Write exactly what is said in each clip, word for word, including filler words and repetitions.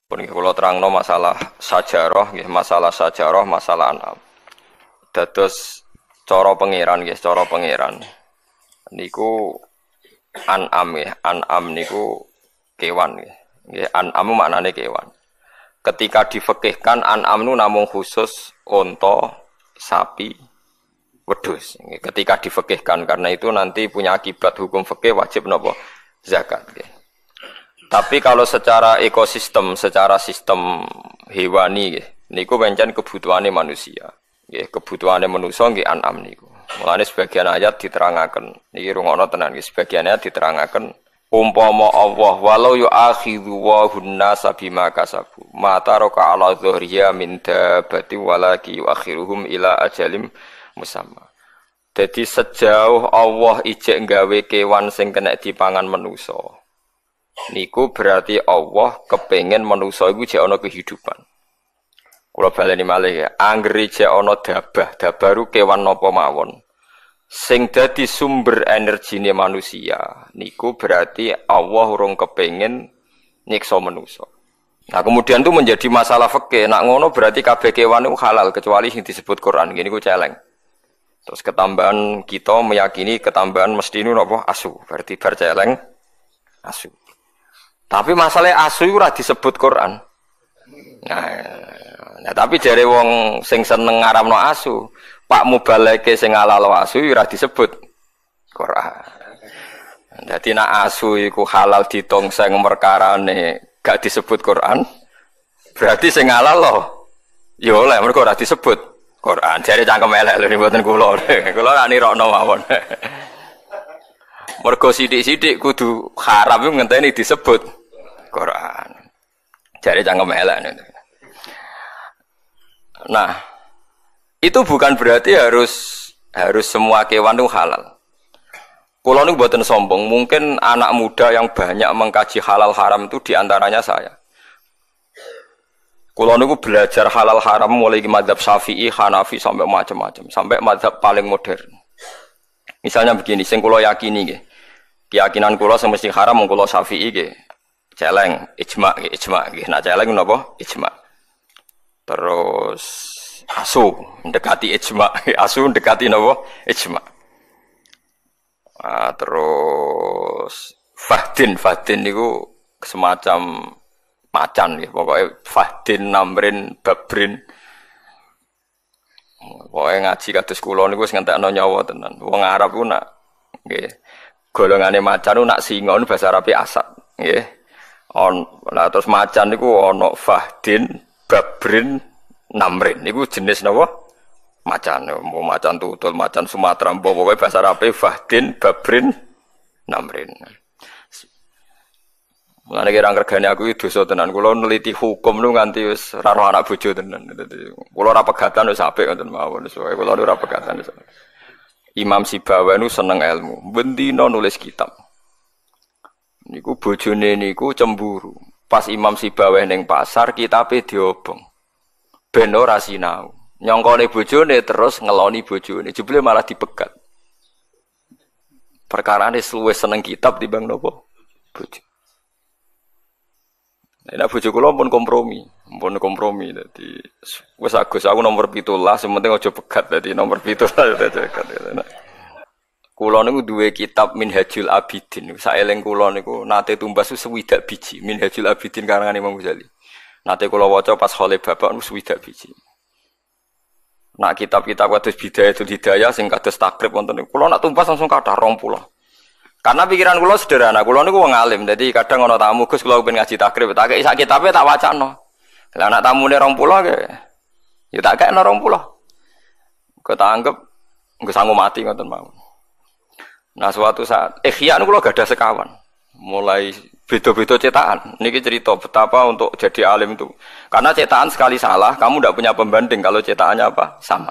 Pun kula terangno masalah sajarah nggih, masalah sajarah, masalah anam. Dados cara pangeran nggih, cara pangeran. Niku an'am nggih, an'am niku kewan nggih. Nggih, an'am maknane kewan. Ketika difekihkan an'am nu namung khusus unta, sapi, wedhus. Ketika difekihkan karena itu nanti punya akibat hukum fikih wajib napa? Zakat nggih. Tapi kalau secara ekosistem, secara sistem hewani nggih, niku pancen kebutuhane manusia. Nggih, kebutuhane manusa nggih an'am niku. Mulane sebagian ayat diterangaken. Niki rungokno tenan nggih, sebagian ayat diterangaken umpama Allah walau yu'akhidhu wa hunnasa bima kasabu ma taraka ala dhuhriya min dabati walaki yu'akhiruhum ila ajalim musamma. Jadi sejauh Allah ijek nggawe kewan sing kena dipangan manusa. Niku berarti Allah kepengen manusa iku jek ana kehidupan. Kula baleni malih ya, anggere jek ana dabah, dabah ru kewan napa mawon. Sing dadi sumber energine manusia, niku berarti Allah urung kepengin nyiksa manusa. Nah, kemudian itu menjadi masalah fikih. Nak ngono berarti kabeh kewan iku halal kecuali sing disebut Quran. Ngene iku celeng. Terus ketambahan kita meyakini ketambahan mesti niku napa asu, berarti bar celeng asu. Tapi masalahnya asu itu ora disebut Quran. Nah, nah tapi jare wong sing seneng ngaramno asu, Pak mubaleke sing ngalalo asu ora disebut Quran. Dadi nek asu iku halal ditongseng perkarane gak disebut Quran, berarti sing ngalalo ya oleh mergo ora disebut Quran. Jare cangkem elek lho mboten kula. Kula ora nirokno mawon. Mergo sithik-sithik kudu haram iku ngenteni disebut Quran. Jare cangkem elek. Nah, itu bukan berarti harus harus semua kewan itu halal. Kulo niku mboten sombong, mungkin anak muda yang banyak mengkaji halal haram itu diantaranya saya. Kulo niku belajar halal haram mulai mazhab Syafi'i, Hanafi sampai macam-macam, sampai mazhab paling modern. Misalnya begini, sing kulo yakini nggih. Keyakinan kulo sing mesti haram mung kulo Syafi'i nggih. Celeng, ijma nggih, ijma nggih. Nak celeng napa? Ijma. Terus asu mendekati ijma, asu mendekati napa? Ijma. Ah, terus fahdin, fahdin niku semacam macan nggih, pokoke fahdin, namrin, babrin. Pokoke ngaji kados kula niku wis ngentekno nyawa tenan. Wong Arab ku nak nggih golongane macan ku nak singa niku bahasa Arabe asad nggih. On, nah terus macan niku ana fahdin, babrin, namrin. Niku jenis napa? Macan. Mau macan tutul, macan Sumatera, mbok pokoke bahasa Arabe fahdin, babrin, namrin. Mulane kira ngregani aku iki dosa tenan. Kula neliti hukum nu nganti wis ora roh anak bojo tenan. Dadi kula ora pegatan wis apik ngoten mawon. Wis kula ora pegatan wis. Imam Sibawa nu seneng ilmu, bendina nulis kitab. Niku bojone niku cemburu. Pas Imam Sibawa ning pasar kitabe diobong. Ben ora sinau. Nyongkone bojone terus ngeloni bojone. Jebule malah dipegat. Perkarane luwih seneng kitab timbang napa? Bojo. Nah, bojo kula pun kompromi, pun kompromi. Dadi wis Agus aku nomor pitulas, sing penting aja pegat. Dadi nomor pitulas aja pegat. Kula niku duwe kitab Minhajul Abidin. Saeling kula niku nate tumbas swidak biji Minhajul Abidin karangan Imam Ghazali. Nate kula waca pas khole bapak niku swidak biji. Nak kitab-kitab kados Bidayatul Hidayah sing kados Takrib wonten niku kula nak tumbas langsung kathah rong puluh. Karena pikiran kula sederhana, kula niku wong alim, dadi kadang ana tamu Gus kula pengen ngaji Takrib, tak kei sak kitabe tak wacana. Lah anak tamune rong puluh ke, ya tak kekno rong puluh. Kok tak anggap nggih sanggup mati ngoten mawon. Nah suatu saat Ihya niku kula gadah sekawan, mulai beda-beda cetakan. Niki cerita betapa untuk jadi alim itu. Karena cetakan sekali salah, kamu ndak punya pembanding kalau cetakannya apa? Sama.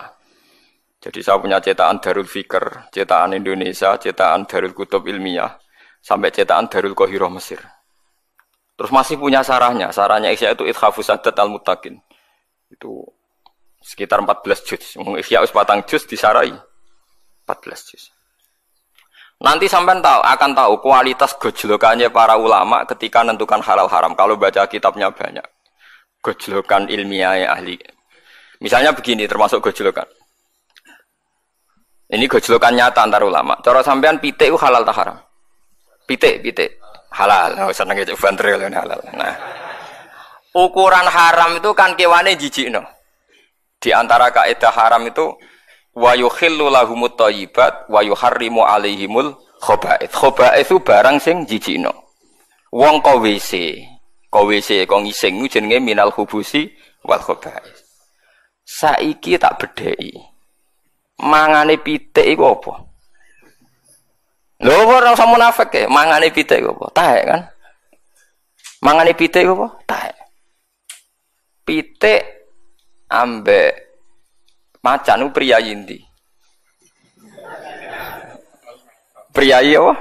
Jadi saya punya cetakan Darul Fikr, cetakan Indonesia, cetakan Darul Kutub Ilmiah, sampai cetakan Darul Qahirah Mesir. Terus masih punya sarahnya, sarahnya Ihya itu Ithafus Sadat Al-Muttaqin. Itu sekitar empat belas juz. Ihya wis patang juz disarai empat belas juz. Nanti sampean tahu, akan tahu kualitas gojlokannya para ulama ketika menentukan halal haram. Kalau baca kitabnya banyak. Gojlokan ilmiah ahli. Misalnya begini, termasuk gojlokan. Ini gojlokan nyata antar ulama. Cara sampean pitik itu halal tak haram? Pitik, pitik. Halal. Oh, seneng itu banter halal. Nah, ukuran haram itu kan kewane jijikno. Di antara kaidah haram itu wa yukhillu lahumut thayyibat wa yuharrimu alaihimul khaba'ith. Khaba'ith itu barang sing jijikno. Wong ko W C, ko W C ko ngising iku jenenge minal khubusi wal khaba'ith. Saiki tak bedheki. Mangane pitik iku apa? Lho ora usah munafik ya, mangane pitik iku apa? Taek kan? Mangane pitik iku apa? Taek. Pitik ambek macan ku priyayi ndi? Priyayi apa?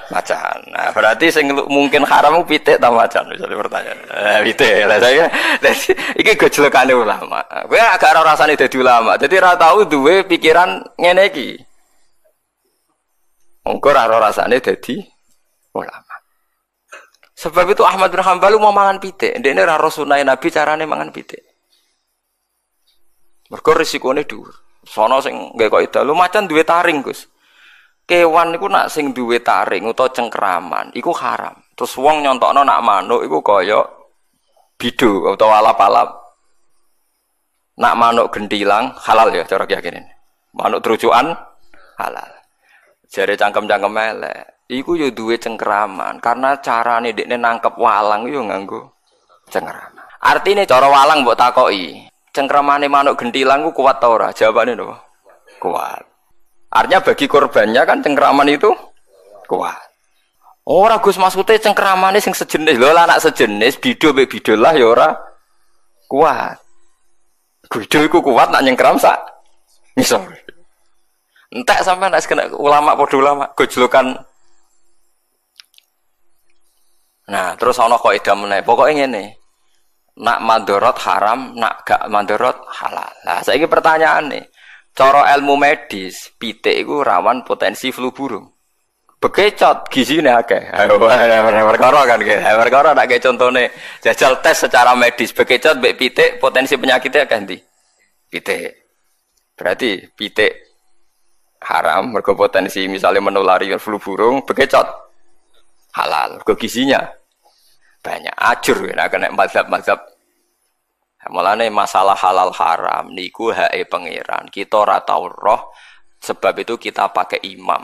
Macan. Nah, berarti sing mungkin haram ku pitik ta macan misalnya pertanyaan. Eh pitik. Lah saya iki gojlokane ulama. Kowe agak ora rasane dadi ulama. Dadi ora tau duwe pikiran ngene iki. Engko ora rasane dadi ulama. Sebab itu Ahmad bin Hanbal mau mangan pitik. Ndekne ora roh sunah Nabi carane mangan pitik. Mergo risikone dhuwur. Sono sing nggawe kaidah, lu macan duwe taring, Gus. Kewan iku nak sing duwe taring utawa cengkraman iku haram. Terus wong nyontokno nak manuk iku kaya bidu utawa alap-alap. Nak manuk gentilang halal ya cara keyakinan. Manuk terucukan halal. Jare cangkem-cangkem elek, iku yo duwe cengkraman karena carane dekne nangkep walang yo nganggo cengkraman. Artine cara walang mbok takoki, cengkramane manuk gentilang ku kuat ta ora? Jawabane napa? Kuat. Artinya bagi korbannya kan cengkraman itu kuat. Ora Gus maksudnya cengkramane sing sejenis. Lho lah anak sejenis bido mbek bido lah ya ora kuat. Bido iku kuat nak nyengkram sak ngisor. Entek sampean nek kena ulama padha ulama gojlokan. Nah, terus ana kaidah meneh. Pokoke ngene. Nak mandorot haram, nak gak mandorot halal. Lah saiki pertanyaane, cara ilmu medis, pitik iku rawan potensi flu burung. Bekecot gizine akeh. Perkara kan nggih. Perkara nek contone jajal tes secara medis, bekecot mbek pitik potensi penyakitnya akeh ndi? Pitik. Berarti pitik haram mergo potensi misalnya menulari flu burung, bekecot halal mergo gizinya banyak. Ajur nek kena mazhab-mazhab. Mulane masalah halal haram niku hake pangeran. Kita ora tau roh, sebab itu kita pakai imam.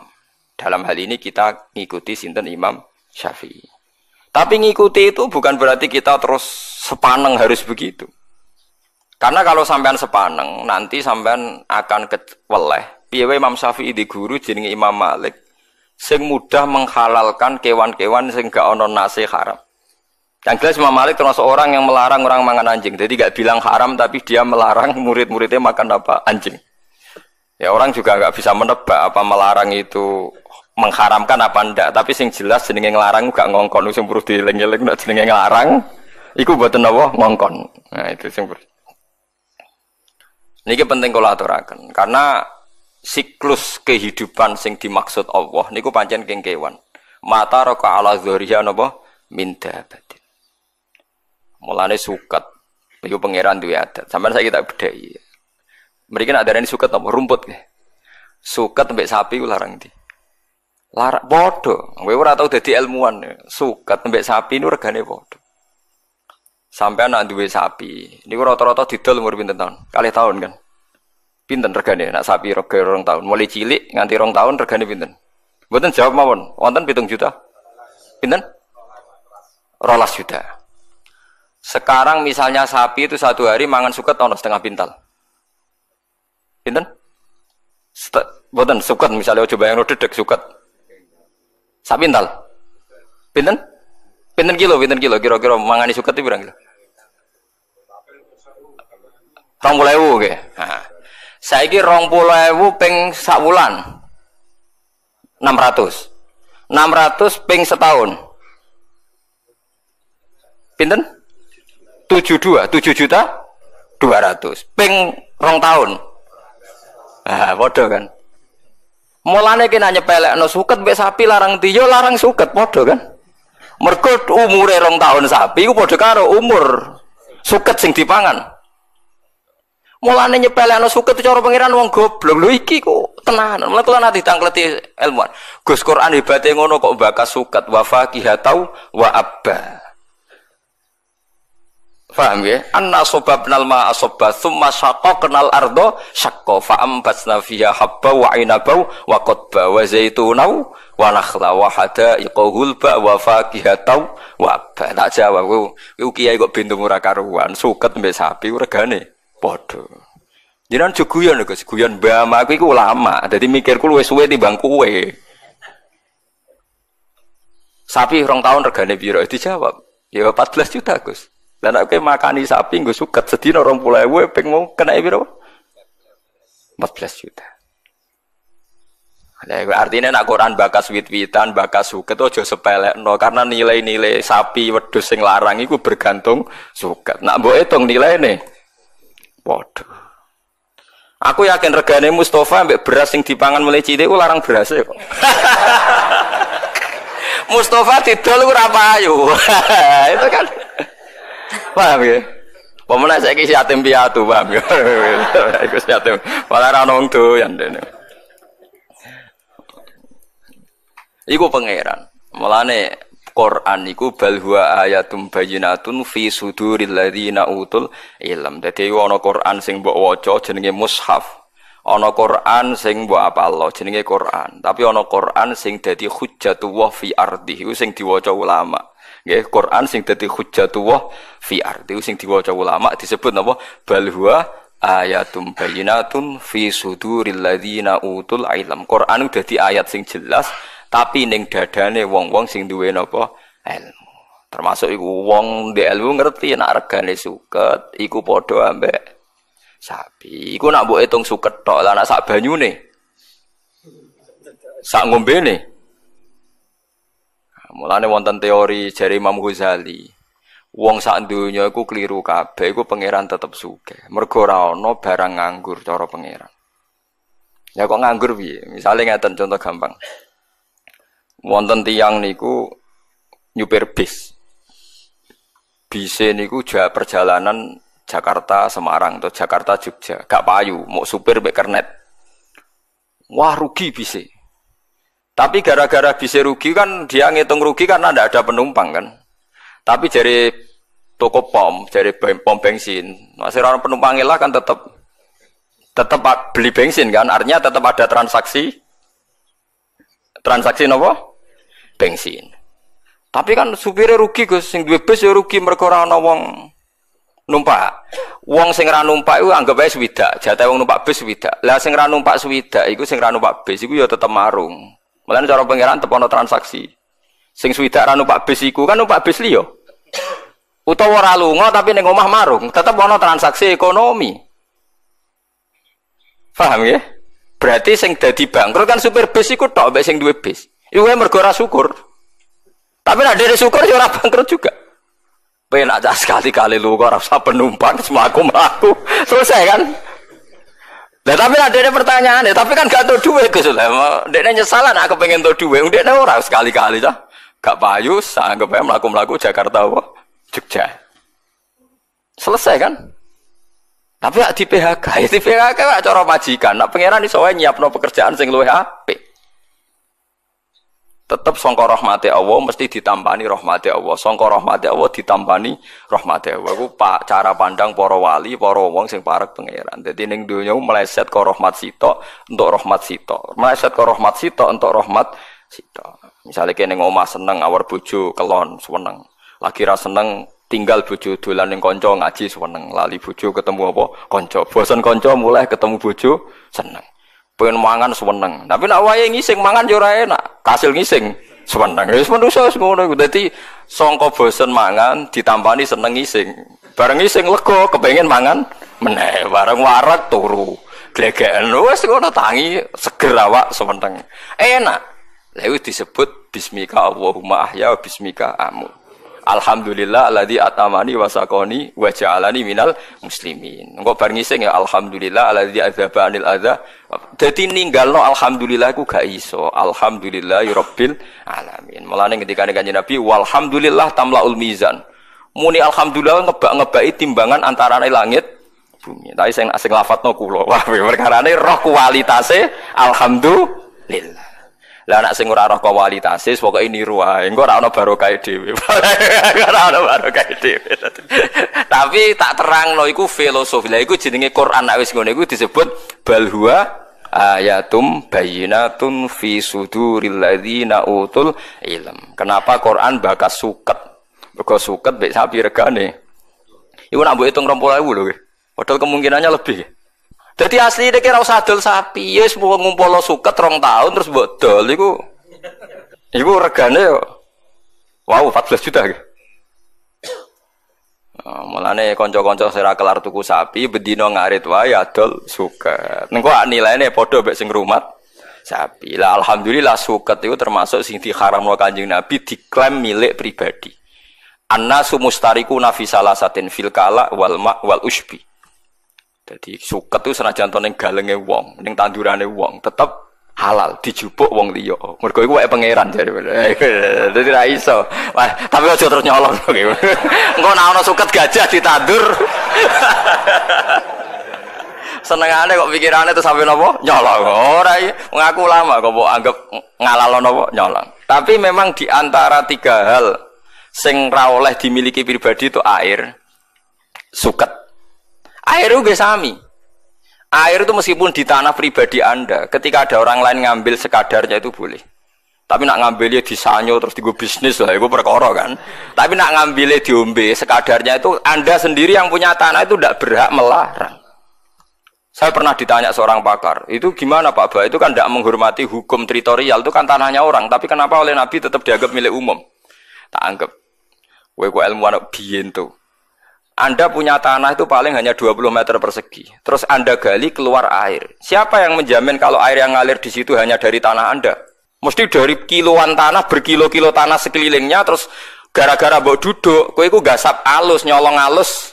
Dalam hal ini kita ngikuti sinten Imam Syafi'i. Tapi ngikuti itu bukan berarti kita terus sepaneng harus begitu. Karena kalau sampean sepaneng, nanti sampean akan keweleh. Piye wae Imam Syafi'i di guru jenenge Imam Malik sing mudah menghalalkan kewan-kewan sing gak ono nase haram. Yang jelas Imam Malik termasuk orang yang melarang orang makan anjing. Jadi gak bilang haram tapi dia melarang murid-muridnya makan apa? Anjing. Ya orang juga gak bisa menebak apa melarang itu mengharamkan apa ndak. Tapi sing jelas jenenge nglarang gak ngongkon. Sing perlu dieling-eling nek jenenge nglarang iku mboten napa ngongkon. Nah itu sing perlu. Niki penting kula aturaken karena siklus kehidupan sing dimaksud Allah niku pancen keng kewan. Mata raka ala dzuriya napa min dabatin. Mulane suket iku pangeran duwe adat. Sampeyan saiki tak bedheki. Mriki nek darani suket apa rumput nggih. Suket mbek sapi ku larang ndi? Larang padha. Kowe ora tau dadi ilmuwan. Suket mbek sapi niku regane padha. Sampeyan nek duwe sapi, niku rata-rata didol umur pinten taun? Kalih tahun kan. Pinten regane nek sapi rega rong tahun? Mulai cilik nganti rong tahun regane pinten? Mboten jawab mawon. Wonten pitung juta. Pinten? Rolas juta. Sekarang misalnya sapi itu satu hari mangan suket ono setengah pintal. Pinten? Mboten suket misalnya coba yang dedek suket. Sak pintal. Pinten? Pinten kilo, pinten kilo kira-kira mangani suket itu berapa kilo? rong puluh ewu nggih. Nah. Saiki rong puluh ewu ping sak wulan. enam ratus. enam ratus ping setahun. Pinten? tujuh puluh dua, tujuh juta dua ratus. Ping rong tahun. Ah, padha kan. Mulane ki nek nyepelekno suket mbek sapi larang ndi? Yo larang suket padha kan. Mergo umure rong tahun sapi iku padha karo umur Suket sing dipangan. Mulane nyepelekno suket cara pangeran wong goblok. Lho iki kok tenanan. Mulane kula nate ditangkleti ilmuwan. Gus Quran hebate ngono kok bakas suket wa faqihatau wa abba. Paham ya? Anna sobabnal ma'a sobba thumma syaqaqnal ardo syaqqa fa ambatna fiha habba wa inaba wa qadba wa zaituna wa nakhla wa hada'iqa ghulba wa fakihataw wa abba. Tak jawab kowe kiai kok bintung ora karuan, suket mbek sapi regane padha. Jenengan jo guyon lho Gus, guyon mbah aku iku ulama, dadi mikirku luwih suwe timbang kowe. Sapi rong tahun regane piro? Dijawab, ya empat belas juta Gus. Lah nek kowe makani sapi nggo suket sedina rong puluh ewu ping mau kena piro? empat belas juta. Lah artinya nek Quran bakas wit-witan, bakas suket aja sepelekno karena nilai-nilai sapi wedhus sing larang iku bergantung suket. Nek mbok hitung nilaine padha. Aku yakin regane Mustafa ambek beras sing dipangan mulai cilik ku larang beras kok. Mustafa didol ora payu. Itu kan paham ya? Pemenang saiki si yatim piatu, paham ya? Iku si yatim. Malah ra ono wong doyan dene. Iku pangeran. Mulane Quran iku bal huwa ayatum bayyinatun fi suduril ladzina utul ilm. Dadi ana Quran sing mbok waca jenenge mushaf. Ana Quran sing mbok apalno jenenge Quran. Tapi ana Quran sing dadi hujjatullah fi ardi, iku sing diwaca ulama. Nggih, Quran sing dadi hujjatullah fi ardi sing diwaca ulama disebut napa? Bal huwa ayatum bayyinatun fi suduril ladzina utul ilm. Quran dadi ayat sing jelas tapi ning dadane wong-wong sing duwe napa? Ilmu. Termasuk iku wong ndek ilmu ngerti nek regane suket iku padha ambek sapi. Iku nak mbok hitung suket tok, lah nek sak banyune sak ngombene. Mulane wonten teori jare Imam Ghazali, wong sak donya iku kliru kabeh, iku pangeran tetep sugih. Mergo ora ana barang nganggur cara pangeran. Ya kok nganggur piye? Misale ngeten contoh gampang. Wonten tiyang niku nyupir bis. Bise niku ja perjalanan Jakarta Semarang atau Jakarta Jogja, gak payu, mau supir mbek kernet. Wah rugi bise. Tapi gara-gara bisa rugi kan dia ngitung rugi karena ndak ada penumpang kan. Tapi dari toko pom, dari pom bensin, masih orang penumpang lah kan tetap tetap beli bensin kan. Artinya tetap ada transaksi transaksi nopo bensin. Tapi kan supirnya rugi Gus, sing duwe bus ya rugi mergo ora ana wong numpak. Wong sing ra numpak iku anggap ae swidak, jatah wong numpak bus swidak. Lah sing ra numpak swidak iku sing ra numpak bus iku ya tetep marung. Mulane cara pangeran tetep ana transaksi. Sing swidak ra numpak bis iku kan numpak bis liya. Utawa ora lunga tapi ning omah marung, tetep ana transaksi ekonomi. Paham ya? Berarti sing dadi bangkrut kan supir bis iku tok mbek sing duwe bis. Iku mergo ora syukur. Tapi nek dhewe syukur ya ora bangkrut juga. Penak cah sekali-kali lunga ora usah penumpang mlaku-mlaku. Selesai kan? Lah tapi ada pertanyaan ya, tapi kan gak tau duit Gus. Lah dekne nyesalan aku pengen tau duit, dekne ora sekali-kali cah. Gak payu, anggap ae mlaku-mlaku Jakarta apa Jogja. Selesai kan? Tapi di P H K, ya di P H K gak cara majikan. Nak pangeran iso wae nyiapno pekerjaan sing luwih apik. Tetep sangka rahmate Allah mesti ditampani rahmate Allah. Sangka rahmate Allah ditampani rahmate Allah. Iku pak cara pandang para wali, para wong sing parek pangeran. Dadi ning donya meleset ke rahmat sitok untuk rahmat sitok. Meleset ke rahmat sitok untuk rahmat sitok. Misale kene ning omah seneng awar bojo kelon seneng. Lagi ra seneng tinggal bojo dolan ning kanca ngaji seneng. Lali bojo ketemu apa? Kanca. Bosen kanca mulai ketemu bojo seneng. Pengen mangan seneng. Tapi nek wayahe ngising mangan yo ora enak. Kasil ngising seneng. Wis manusa wis ngono iku. Dadi sangka bosen mangan ditampani seneng ngising. Bareng ngising lega kepengin mangan meneh. Bareng wareg turu. Glegeken wis ngono tangi seger awak seneng. Enak. Lha iku disebut bismika Allahumma ahya wa bismika amut. Alhamdulillah alladzi atamani wa saqani wa ja'alani minal muslimin. Engko bar ngising ya alhamdulillah alladzi adzaba anil adza. Dadi ninggalno alhamdulillah iku gak iso. Alhamdulillahi rabbil alamin. Mulane ketika Kanjeng Nabi walhamdulillah tamlaul mizan. Muni alhamdulillah ngebak-ngebaki timbangan antarane langit bumi. Tapi sing sing lafadzno kula. Wah, perkarane roh kualitase alhamdulillah. Lah nek sing ora roh kualitase pokoke niru wae. Engko ora ana barokah dhewe. Ora ana barokah dhewe. Tapi tak terangno iku filosofi. Lah iku jenenge Quran nek wis ngono iku disebut bal huwa ayatum bayyinatun fi suduril ladzina utul ilm. Kenapa Quran bakas suket? Mergo suket mbek sapi regane. Iku nak mbok hitung rong puluh ewu lho nggih. Padahal kemungkinannya lebih. Jadi asli nek ora usah dol sapi, ya wis ngumpul suket rong tahun terus mbok dol iku iku regane yo wow empat belas juta nggih. Oh, mulane kanca-kanca sing ora kelar tuku sapi bendina ngarit wae adol suket. Engko nilaine padha mek sing ngrumat sapi. Lah alhamdulillah suket itu termasuk sing diharamno Kanjeng Nabi diklaim milik pribadi. Annasu mustarikuna fi salasatin fil kala wal ma wal usbi. Jadi suket itu senajan to ning galenge wong, ning tandurane wong, tetep halal dijupuk wong liya. Mergo iku wae pangeran jare. Dadi ra iso. Wah, tapi aja terus nyolong. Engko nek ana suket gajah ditandur. Senengane kok pikirane terus sampe napa? Nyolong. Ora iki ngaku ulama kok mbok anggap ngalalo napa? Nyolong. Tapi memang di antara tiga hal sing ra oleh dimiliki pribadi itu air, suket. Air itu sami. Air itu meskipun di tanah pribadi Anda, ketika ada orang lain ngambil sekadarnya itu boleh. Tapi nak ngambilnya disanyo terus digo bisnis lah, itu perkara kan. Tapi nak ngambilnya diombe sekadarnya itu Anda sendiri yang punya tanah itu tidak berhak melarang. Saya pernah ditanya seorang pakar, itu gimana Pak Ba? Itu kan tidak menghormati hukum teritorial, itu kan tanahnya orang. Tapi kenapa oleh Nabi tetap dianggap milik umum? Tak anggap. Kowe kok ilmuwan biyen tuh. Anda punya tanah itu paling hanya dua puluh meter persegi. Terus Anda gali keluar air. Siapa yang menjamin kalau air yang ngalir di situ hanya dari tanah Anda? Mesti dari kiloan tanah, berkilo-kilo tanah sekelilingnya, terus gara-gara mbok duduk, kowe iku gasap alus, nyolong alus.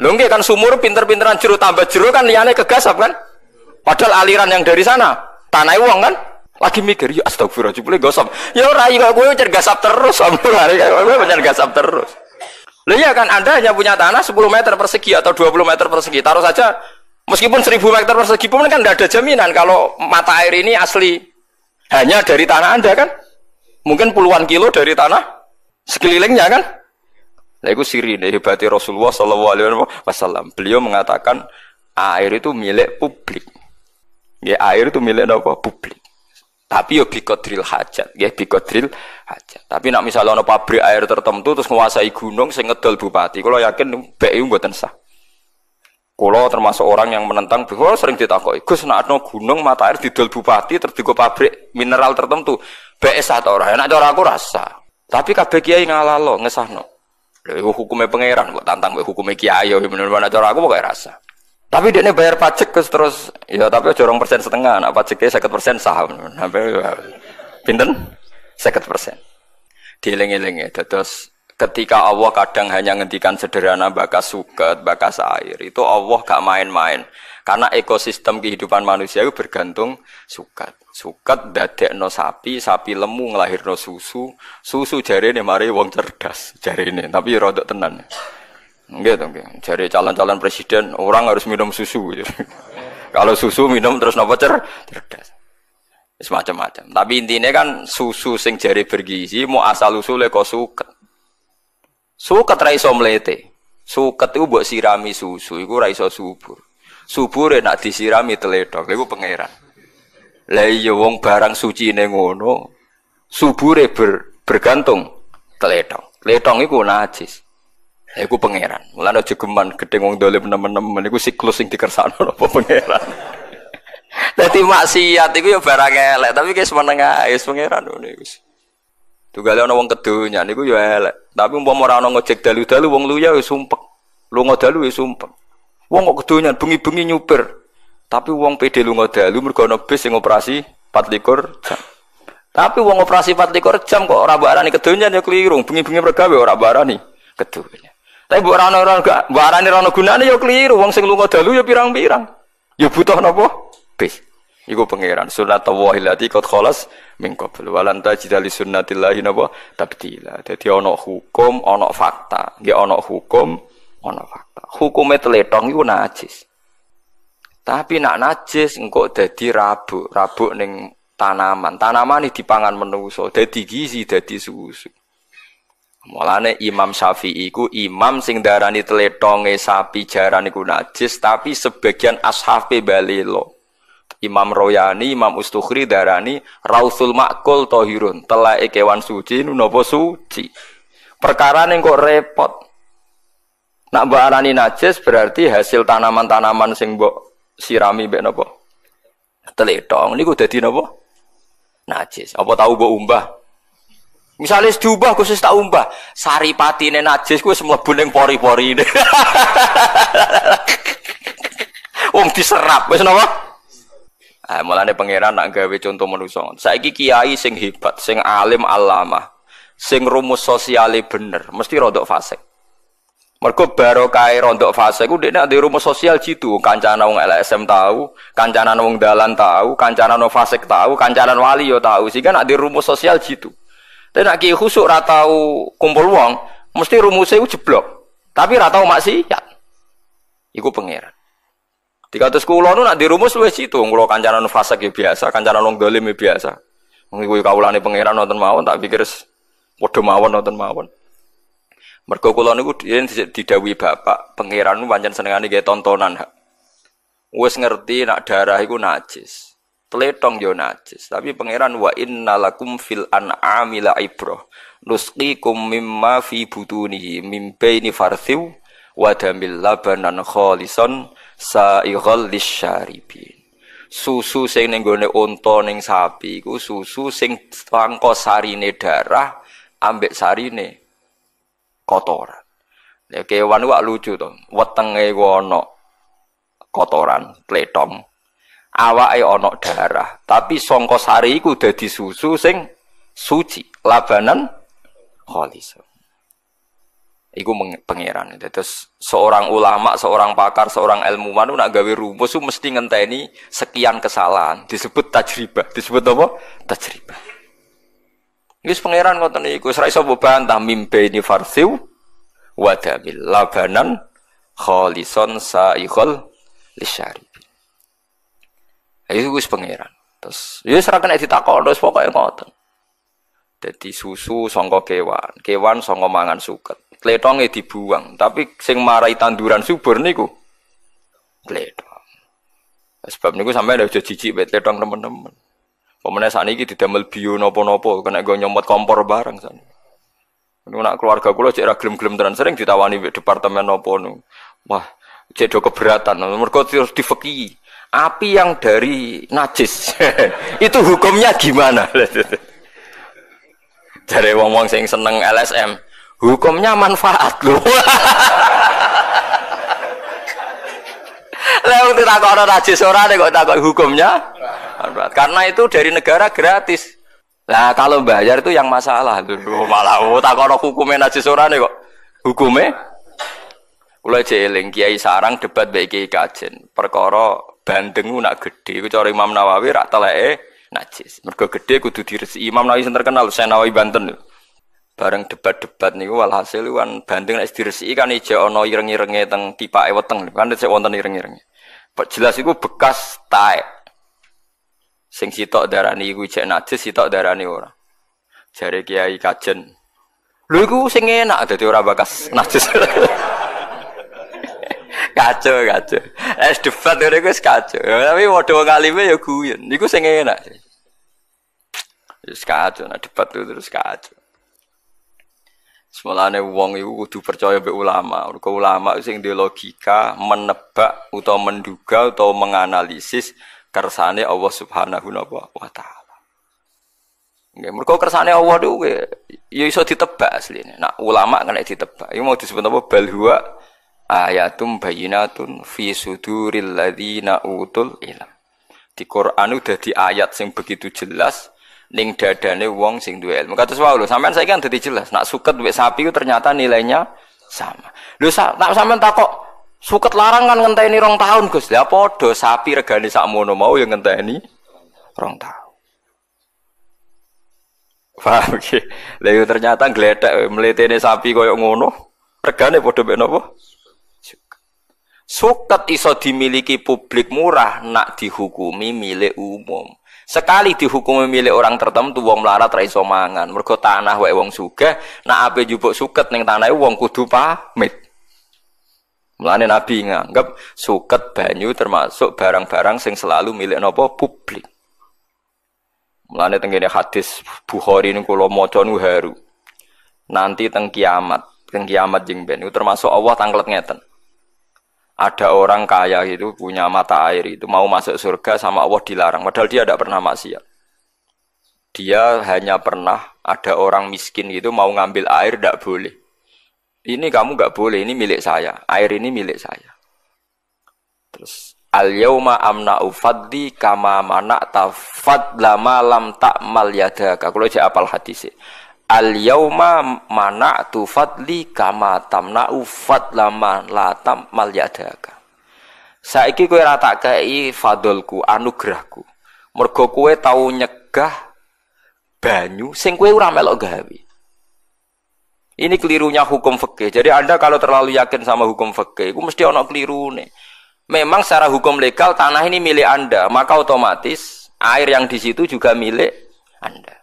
Lho nggih kan sumur pinter-pinteran jero tambah jero kan liyane kegasap kan? Padahal aliran yang dari sana, tanah wong kan? Lagi mikir, ya astagfirullah, jebule gosap. Ya ora iki kowe gasap terus, kowe pancen gasap terus. Loh iya kan, Anda hanya punya tanah sepuluh meter persegi atau dua puluh meter persegi. Taruh saja, meskipun seribu meter persegi pun kan tidak ada jaminan kalau mata air ini asli hanya dari tanah Anda kan. Mungkin puluhan kilo dari tanah sekelilingnya kan. Nah itu sirine hebatnya Rasulullah shallallahu alaihi wasallam. Beliau mengatakan air itu milik publik. Ya, air itu milik apa? Publik. Tapi yo biqadril hajat, ya biqadril hajat. Tapi nak misalnya ono pabrik air tertentu terus nguasai gunung sing ngedol bupati, kalau yakin B I mboten sah. Kulo termasuk orang yang menentang, kulo sering ditakoki, Gus nak ono gunung mata air didol bupati terus digo pabrik mineral tertentu, B I sah ta ora? Nek cara aku rasa. Tapi kabeh kiai ngalalo ngesahno. Lha iku hukume pangeran kok tantang mbek hukume kiai yo bener-bener cara aku pokoke rasa. Tapi dia bayar pajak terus terus ya tapi aja rong persen setengah, nak pajaknya seket persen sah. Sampai pinten? Seket persen. Dieling-eling ya, terus ketika Allah kadang hanya ngendikan sederhana bakas suket, bakas air, itu Allah gak main-main. Karena ekosistem kehidupan manusia itu bergantung suket. Suket dadekno sapi, sapi lemu nglahirno susu, susu jarene mari wong cerdas jarene, tapi ya rodok tenan. Nggih to nggih. Jare calon-calon presiden orang harus minum susu. Kalau susu minum terus napa cer cerdas. Wis macam-macam. Tapi intinya kan susu sing jare bergizi mau asal usule kok suket. Suket ra iso mlete. Suket iku mbok sirami susu iku ra iso subur. Subure nak disirami tledhok iku pangeran. Lah iya wong barang sucine ngono, subure ber, bergantung tledhok. Tledhok iku najis. Iku pangeran. Mulane aja geman gedhe wong dolim nemen-nemen iku siklus sing dikersakno apa pangeran. Dadi maksiat iku ya barang elek, tapi wis meneng ae wis pangeran ngono iku. Tunggale ana wong kedonyan iku ya elek, tapi umpama ora ana ngojek dalu-dalu wong luya ya sumpek. Lunga dalu ya sumpek. Wong kok kedonyan bengi-bengi nyupir. Tapi wong pede lunga dalu mergo ana bis sing operasi patlikur jam. Tapi wong operasi patlikur jam kok ora mbok arani kedonyan ya keliru. Bengi-bengi mergawe ora mbok arani kedonyan. Tapi mbok ora ana gak mbok arani ora ana gunane ya keliru. Wong sing lunga dalu ya pirang-pirang. Ya butuh napa? Bis. Iku pangeran sunnatullahi allati qad khalas min qabl walan tajida li sunnatillahi napa tabdila. Dadi ana hukum, ana fakta. Nggih ana hukum, ana fakta. Hukume tletong iku najis. Tapi nak najis engko dadi rabuk, rabuk ning tanaman. Tanaman iki dipangan manusa, dadi gizi, dadi susu. Mulane Imam Syafi'i iku imam sing darani tletonge sapi jaran iku najis, tapi sebagian ashabe balelo. Imam Royani, Imam Ustukhri darani rausul makul tohirun, telake kewan suci napa suci. Perkara ning kok repot. Nak mbok arani najis berarti hasil tanaman-tanaman sing mbok sirami mbek napa? Tletong niku dadi napa? Najis. Apa tau mbok umbah? Misalnya diubah khusus tak umbah, saripatine najis ku wis mlebu ning pori-porine. Wong diserap wis napa? Ah, mulane pangeran nak gawe contoh manusa. Saiki kiai sing hebat, sing alim alamah, sing rumus sosiale bener, mesti rodok fasik. Mergo barokahe rodok fasik ku dekne ndek rumus sosial jitu, kancane wong L S M tahu, kancanan wong dalan tahu, kancanan wong fasik tahu, kancanan wali yo tahu. Sehingga nak di rumus sosial jitu. Tapi nak kiai khusuk ra tau kumpul wong, mesti rumusnya iku jeblok. Tapi ra tau maksiat. Iku pangeran. Dikatus kula nu nak dirumus luwih situ, kula kancanan fasik ya biasa, kancanan wong dolim ya biasa. Wong iku kawulane pangeran nonton mawon tak pikir padha mawon nonton mawon. Mergo kula niku didhawuhi bapak, pangeran nu pancen senengane gawe tontonan. Wis ngerti nak darah iku najis. Tletong yo najis, tapi pangeran wa innalakum fil an'ami la'ibrah. Nusqikum mimma fi butunihi mim baini farthiw wa damil labanan khalisan sa'ighal lisyaribin. Susu sing ning gone unta ning sapi iku susu sing sangka sarine darah ambek sarine kotoran. Ya kewan wak lucu to, wetenge iku ana kotoran, tletong. Awake ana darah, tapi sangka sari iku dadi susu sing suci, labanan khalisan. Iku pangeran. Terus seorang ulama, seorang pakar, seorang ilmuwan nak gawe rumus itu mesti ngenteni sekian kesalahan. Disebut tajribah. Disebut apa? Tajribah. Wis pangeran ngoten niku, wis ra iso mbantah mimbe ini farsiw wa damil labanan khalison sa'ikhol lisyaribin. Iku wis pangeran. Terus ya wis ra kena ditakon, terus pokoke ngoten. Dadi susu sangka kewan, kewan sangka mangan suket. Tletonge dibuang, tapi sing marai tanduran subur niku tletong. Sebab niku sampeyan aja jijik mek tletong temen-temen. Pemene sakniki didamel bio napa-napa, kena nggo nyomot kompor bareng sakniki. Niku nak keluarga kula cek ra gelem-gelem tenan, sering ditawani mek departemen napa niku. Wah, cek do keberatan, mergo terus difeki. Api yang dari najis itu hukumnya gimana? Jare wong-wong sing seneng L S M, hukumnya manfaat lho. Lah wong ditakokno najis ora kok takok hukumnya manfaat. Karena itu dari negara gratis. Lah kalau bayar itu yang masalah. Lho malah oh takokno hukumnya najis ora kok hukumnya. Kula eling Kiai Sarang debat mbek Kiai Kajen. Perkara bandeng nak gedhe iku cara Imam Nawawi rak teleke najis. Mergo gedhe kudu diresiki. Imam Nawawi sing terkenal, Syekh Nawawi Banten. Bareng debat-debat niku walhasil kan bandeng nek diresiki kan ijek ana ireng-irenge teng tipake weteng kan isih wonten ireng-irenge. Jelas iku bekas taek. Sing sitok darani iku ijek najis, sitok darani ora. Jare Kiai Kajen. Lho iku sing enak dadi ora bekas najis. Kacau, kacau. Es debat ngene iku wis kacau. Tapi padha wong alime ya guyon. Iku sing enak. Wis kacau, nek debat itu terus kacau. Semulane wong iku kudu percaya mbek ulama. Mergo ulama sing duwe logika menebak utawa menduga utawa menganalisis kersane Allah Subhanahu wa taala. Nggih, mergo kersane Allah niku ya iso ditebak asline. Nek ulama kena ditebak. Iku mau disebut apa bal huwa ayatum bayyinatun fi suduril ladzina utul ilm. Di Quran udah di ayat sing begitu jelas ning dadane wong sing duwe ilmu. Kados wae lho, sampean saiki kan dadi jelas, nak suket mbek sapi ku ternyata nilainya sama. Lho nak sampean takok suket larang kan ngenteni rong tahun, Gus. Lah padha sapi regane sakmono mau ya ngenteni Rong tahun. Paham iki? Lha ternyata gledek mletene sapi koyo ngono, regane padha mek napa? Suket iso dimiliki publik murah nak dihukumi milik umum. Sekali dihukumi milik orang tertentu wong melarat ra iso mangan. Mergo tanah wae wong sugih, nak ape njupuk suket ning tanahe wong kudu pamit. Mulane Nabi nganggep suket banyu termasuk barang-barang sing selalu milik napa publik. Mulane teng kene hadis Bukhari niku kula maca niku haru. Nanti teng kiamat, teng kiamat jeng ben niku termasuk Allah tanglet ngeten. Ada orang kaya itu punya mata air itu mau masuk surga sama Allah dilarang, padahal dia tidak pernah maksiat. Dia hanya pernah ada orang miskin itu mau ngambil air tidak boleh. Ini kamu nggak boleh, ini milik saya. Air ini milik saya. Terus al yauma amna'u fadli kama mana'ta fadla ma lam ta'mal yadaka. Kulo jek apal hadise. Al yauma mana'tu fadli kama tamna'u fadla ma la ta'mal yadaka. Saiki kowe ora tak kei fadlku, anugerahku. Mergo kowe tau nyegah banyu sing kowe ora melok gawe. Ini kelirunya hukum fikih. Jadi Anda kalau terlalu yakin sama hukum fikih, itu mesti ono kelirune. Memang secara hukum legal tanah ini milik Anda, maka otomatis air yang di situ juga milik Anda.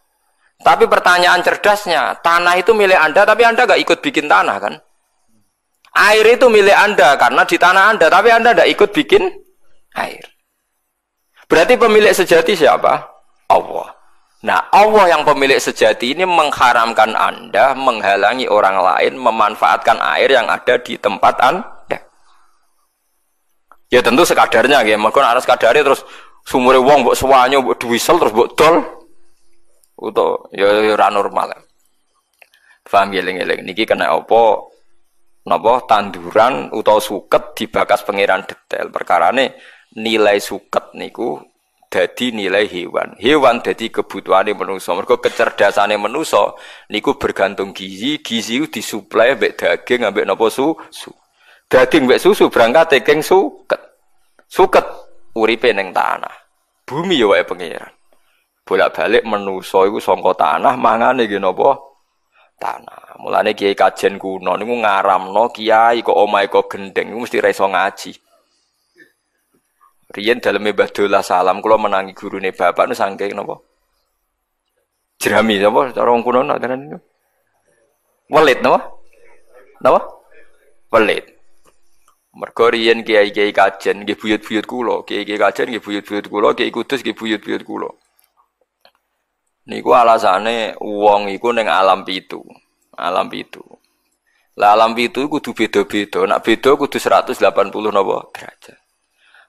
Tapi pertanyaan cerdasnya, tanah itu milik Anda, tapi Anda nggak ikut bikin tanah kan? Air itu milik Anda karena di tanah Anda, tapi Anda nggak ikut bikin air. Berarti pemilik sejati siapa? Allah. Nah, Allah yang pemilik sejati ini mengharamkan Anda, menghalangi orang lain memanfaatkan air yang ada di tempat Anda. Ya tentu sekadarnya, ya. Mergo nek sekadarnya terus sumure wong mbok sewanyo, mbok duwisel terus mbok dol. Utawa ya ora normal. Paham ya eling-eling niki kena apa napa tanduran utawa suket dibakas pangeran detail. Perkarane nilai suket niku dadi nilai hewan. Hewan dadi kebutuhane manusa. Mergo kecerdasane manusa niku bergantung gizi, gizi ku disuplai mbek daging ambek napa susu. Daging mbek susu berangkat keng suket. Suket uripe ning tanah. Bumi ya wae pangeran. Bolak-balik manusa iku sangka tanah, mangane nggih napa? Tanah. Mulane kiai kajen kuno niku ngaramno kiai kok omahe kok gendeng iku mesti ra iso ngaji. Riyen daleme Mbah Dolah Salam kula menangi gurune bapak nu saking napa? Jerami napa cara wong kuno nak tenan niku? Welit napa? Napa? Welit. Mergo riyen kiai-kiai kajen nggih buyut-buyut kula, kiai-kiai kajen nggih buyut-buyut kula, kiai Kudus nggih buyut-buyut kula. Niku alasane wong iku ning alam pitu. Alam pitu. Lah alam pitu kudu beda-beda. Nek beda kudu seratus delapan puluh napa derajat.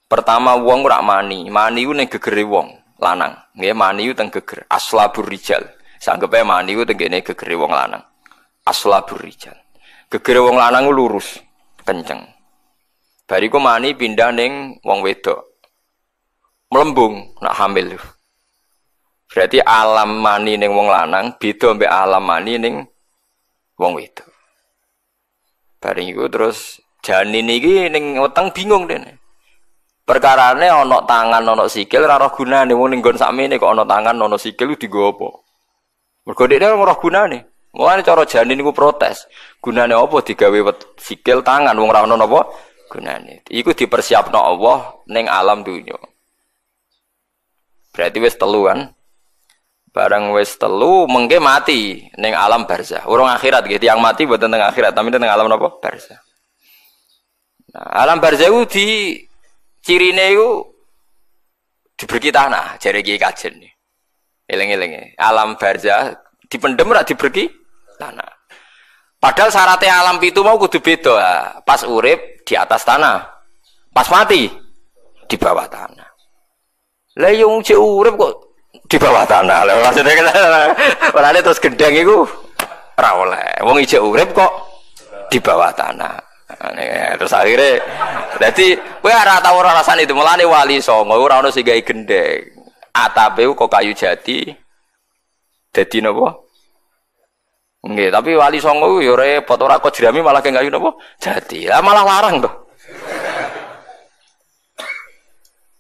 Pertama wong ora mani, mani ku ning gegere wong lanang. Nggih, mani ku teng geger, aslabur rijal. Sanggepe mani ku teng kene gegere wong lanang. Aslabur rijal. Gegere wong lanang ku lurus, kenceng. Bariku mani pindah ning wong wedok. Mlembung nak hamil. Berarti alam mani ning wong lanang beda mbek alam mani ning wong wedok. Bareng iku terus janin iki ning weteng bingung dene. Perkarane ana tangan ana sikil ora roh gunane, wong ning nggon sakmene kok ana tangan ana sikil ku dienggo apa? Mergo dekne ora roh gunane. Mulane cara janin iku protes. Gunane apa digawe sikil tangan wong ora ana napa gunane. Iku dipersiapno Allah ning alam dunya. Berarti wis telu kan? Barang wis telu mengke mati ning alam barzah. Urung akhirat nggih, tiyang mati mboten teng akhirat, tapi teng alam napa? Barzah. Nah, alam barzah iku di cirine iku diberi tanah, jare kiai kajen. Eling-eling. Alam barzah dipendem ora diberi tanah. Padahal syaratnya alam pitu mau kudu beda. Pas urip di atas tanah, pas mati di bawah tanah. Lah yo cek urip kok di bawah tanah. Lah maksudnya ora terus gendeng iku ora oleh. Wong ijek urip kok di bawah tanah. Nah, terus akhirnya dadi kowe ora tau ora rasane itu. Mulane wali songo ora ono sing gawe gendeng. Atape kok kayu jati dadi napa? Nggih, tapi wali songo yo repot ora kok jerami malah kayak kayu napa? Jati. Lah malah larang to.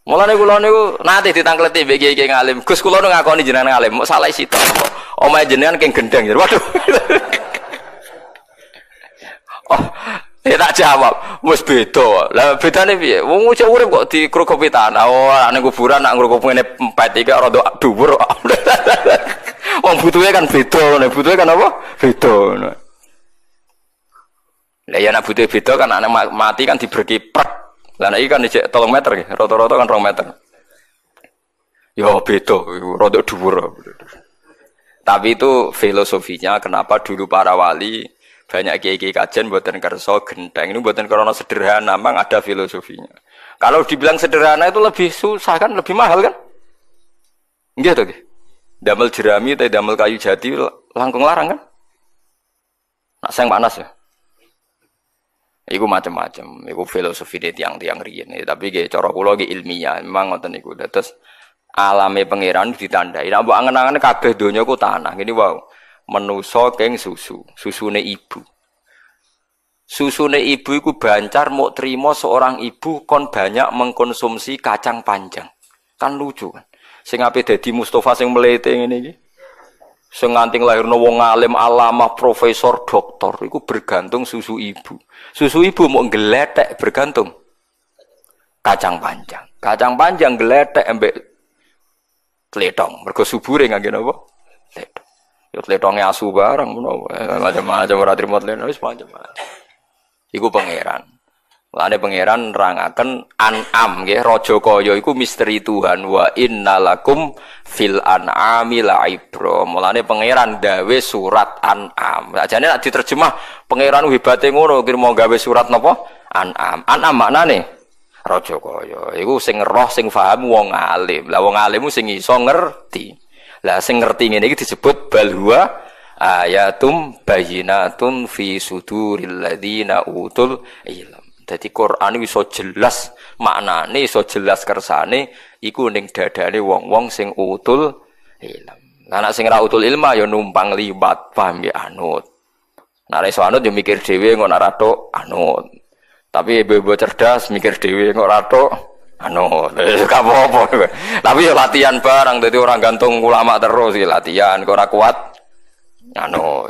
Mulane kula niku nate ditangkleti mbek kiai-kiai ngalim. Gus kula nu ngakoni jenengan ngalim, mok salah sitok. Omahe jenengan keng gendeng. Waduh. Oh, ya tak jawab, wis beda. Lah bedane piye? Wong cek urip kok dikrukupi tanah. Oh, nek kuburan nak ngrukup ngene empet iki rada dhuwur. Wong butuhe kan beda, nek butuhe kan apa? Beda. Lah ya nek butuhe beda kan nek mati kan diberki prek. Lah nek iki kan ijek telung meter nggih, rata-rata kan rong meter. Ya beda, rada dhuwur. Tapi itu filosofinya kenapa dulu para wali banyak kiai-kiai kajen mboten kersa genteng. Ini mboten karena sederhana, memang ada filosofinya. Kalau dibilang sederhana itu lebih susah kan, lebih mahal kan? Nggih to nggih. Damel jerami atau damel kayu jati langkung larang kan? Nak seng panas ya. Iku macam-macam, iku filosofi de tiang-tiang riyen. Tapi nggih cara kula nggih ilmiah, memang ngoten niku. Terus alame pangeran ditandai. Nek mbok angen-angen kabeh donya ku tanah. Ngene wae. Menusa keng susu, susune ibu. Susune ibu iku bancar mok trimo seorang ibu kon banyak mengkonsumsi kacang panjang. Kan lucu kan. Sing ape dadi Mustafa sing mlete ngene iki. Sing nganti nglahirno wong alim, alamah, profesor, doktor iku bergantung susu ibu. Susu ibu mok gletek bergantung kacang panjang. Kacang panjang gletek ambek tletong. Mergo subure ngangge napa? Tletong. Ya tletonge asu barang menawa macam-macam ora trimo tletong wis macam-macam. Iku pangeran. Mulane pangeran nerangaken an'am nggih raja kaya iku misteri Tuhan wa innalakum fil an'ami la'ibra. Mulane pangeran gawe surat an'am. Sajane nek diterjemah pangeran hebate ngono kira mau gawe surat napa? An'am. An'am maknane raja kaya. Iku sing roh sing paham wong alim. Lah wong alim sing iso ngerti. Lah sing ngerti ngene iki disebut bal huwa ayatum bayyinatun fi suduril ladzina utul ilm. Dadi Quran iso jelas maknane, iso jelas kersane iku ning dadane wong-wong sing utul ilm. Lah nek sing ra utul ilma ya numpang liwat, paham ya anut. Nek iso anut ya mikir dhewe kok nek ra tok anut. Tapi ibu-ibu cerdas mikir dhewe kok ra tok anu, gak apa-apa. Tapi ya latihan barang, dadi orang gantung ulama terus iki latihan, kok ora kuat. Anu.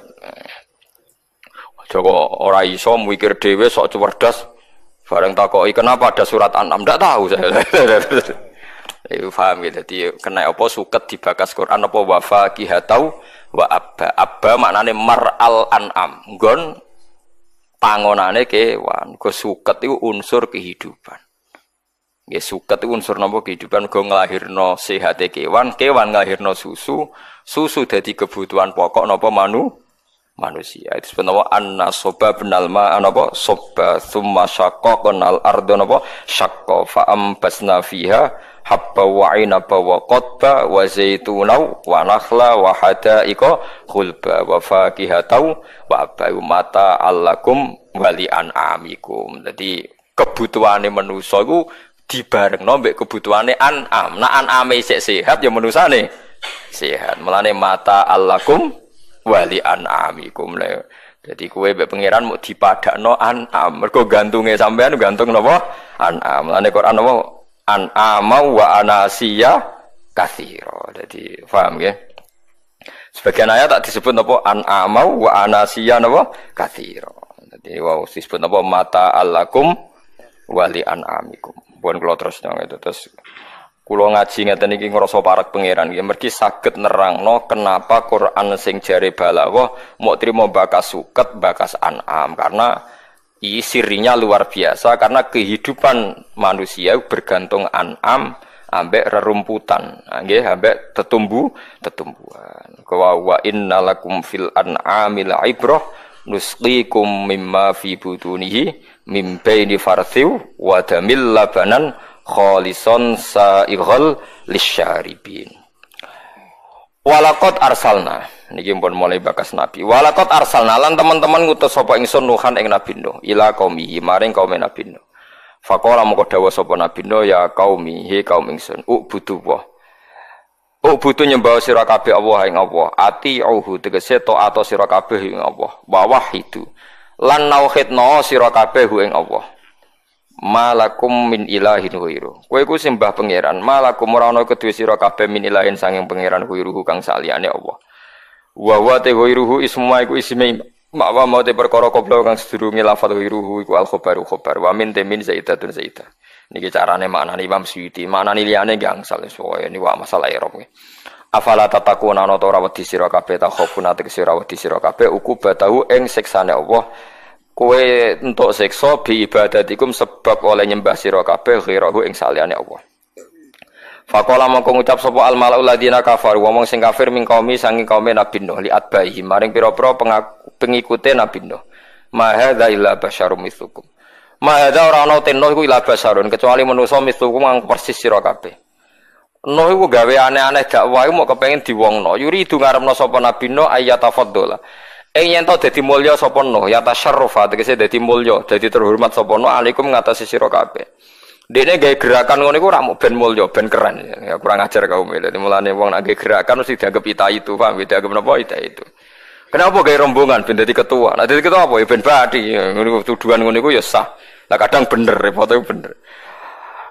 Aja kok ora iso mikir dhewe sok cerdas. Bareng takoki kenapa ada surat An'am, ndak tahu saya. Iku paham gitu. Dadi kena apa suket dibakas Quran apa wa faqihatau wa abba. Abba maknane mar'al an'am. Nggon pangonane kewan. Go suket iku unsur kehidupan. Nggih suket iku unsur napa kehidupan go nglahirno sehate kewan, kewan nglahirno susu, susu dadi kebutuhan pokok napa manu manusia. Itu sebenarnya anna soba benal ma napa soba summa syaqaqnal ardo napa syaqqa fa ambasna fiha habba wa inaba wa qadba wa zaituna wa nakhla wa hada'iqa khulba wa fakihatau wa abayu mata allakum wali an'amikum. Dadi kebutuhane manusa iku dibarengno mbek kebutuhane an'am. Nek an'ame isih sehat ya manusane sehat. Mulane mata allakum wali an'amikum. Jadi kowe mbek pangeran mok dipadakno an'am. Mergo gantunge sampean gantung napa? An'am. Mulane Quran napa? An'ama wa anasiya katsira. Jadi paham nggih? Sebagian ayat tak disebut napa an'ama wa anasiya napa katsira. Dadi wau disebut napa mata allakum wali an'amikum. Pun kula terus itu terus kula ngaji ngeten iki ngrasa parek pangeran nggih mergi saged nerangno kenapa Quran sing jare balaghah mok trimo bakas suket bakas an'am karena iki sirinya luar biasa karena kehidupan manusia bergantung an'am ambek rerumputan nggih ambek tetumbu tetumbuhan. Wa wa innalakum fil an'ami la'ibrah nusqikum mimma fi butunihi mim baini farthiw wa damil labanan khalison sa'ighal lisyaribin. Walaqad arsalna niki pun mulai bakas nabi. Walaqad arsalna lan teman-teman ngutus sapa ingsun Nuhan ing Nabi Nuh ila qaumihi maring kaum Nabi Nuh. Faqala moko dawuh sapa Nabi Nuh ya qaumi he kaum ingsun ubudu wa ubudu nyembah sira kabeh Allah ing Allah atiuhu tegese taat sira kabeh ing Allah wa wahidu lan nauhidna sira kabeh ing Allah. Malakum min ilahin ghairu. Kowe iku sembah pangeran, malakum ora ana kedue sira kabeh min ilahin sanging pangeran ghairuhu kang saliyane Allah. Wa wa te ghairuhu isma iku isme makwa mau te perkara kobra kang sedurunge lafal ghairuhu iku al khabaru khabar wa min te min zaidatun zaidah. Niki carane maknane Imam Suyuti, maknane liyane nggih angsal pokoke niku masalah i'rab. Afala tatakuna ana ta ora wedi sira kabeh ta khofuna tegese ora wedi sira kabeh ukubatahu ing siksane Allah. Kowe entuk siksa bi ibadatikum sebab oleh nyembah sira kabeh ghirahu ing saliyane Allah. Faqala mongko ngucap sapa al malaul ladina kafaru wong sing kafir min qaumi sanging kaume Nabi Nuh li atbaihi maring pira-pira pengikute Nabi Nuh. Ma hadza illa basyarum mitslukum. Ma hadza ora ana ten Nuh iku illa basyarun kecuali manusa mitslukum kang persis sira kabeh. Nuh iku gawe aneh-aneh dakwah iku mok kepengin diwongno. Yuridu ngarepno sapa Nabi Nuh ayatafaddala. Ing yen to dadi mulya sapa Nuh, ya tasyarrufa tegese dadi mulya, dadi terhormat sapa Nuh alaikum ngatasi sira kabeh. Dekne gawe gerakan ngono iku ora mung ben mulya, ben keren. Ya kurang ajar kaum iki. Dadi mulane wong nek gawe gerakan mesti dianggap ita itu, paham? Dianggap napa ita itu. Kenapa gawe rombongan ben dadi ketua? Nek dadi ketua apa ya ben bathi. Ngono tuduhan ngono iku ya sah. Lah kadang bener, repote bener.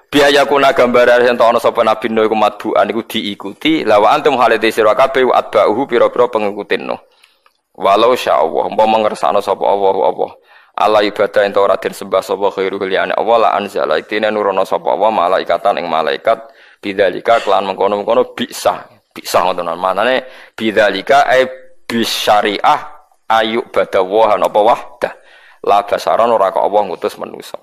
Biaya kuna gambaran yen to ana sapa Nabi Nuh iku matbuan iku diikuti, la wa antum halate sira kabeh wa atba'uhu pira-pira pengikute Nuh. Walau sya'allah, umpama ngersakno sapa Allah Allah. Ala ibadah ento ora den sembah sapa khairu liyane Allah la anzala iktine nurono sapa Allah malaikatan ing malaikat bidzalika kelan mengkono-mengkono bisa. Bisa ngoten manane bidzalika e bisyariah ayu badawa napa wahdah. La basaran ora kok Allah ngutus manusa.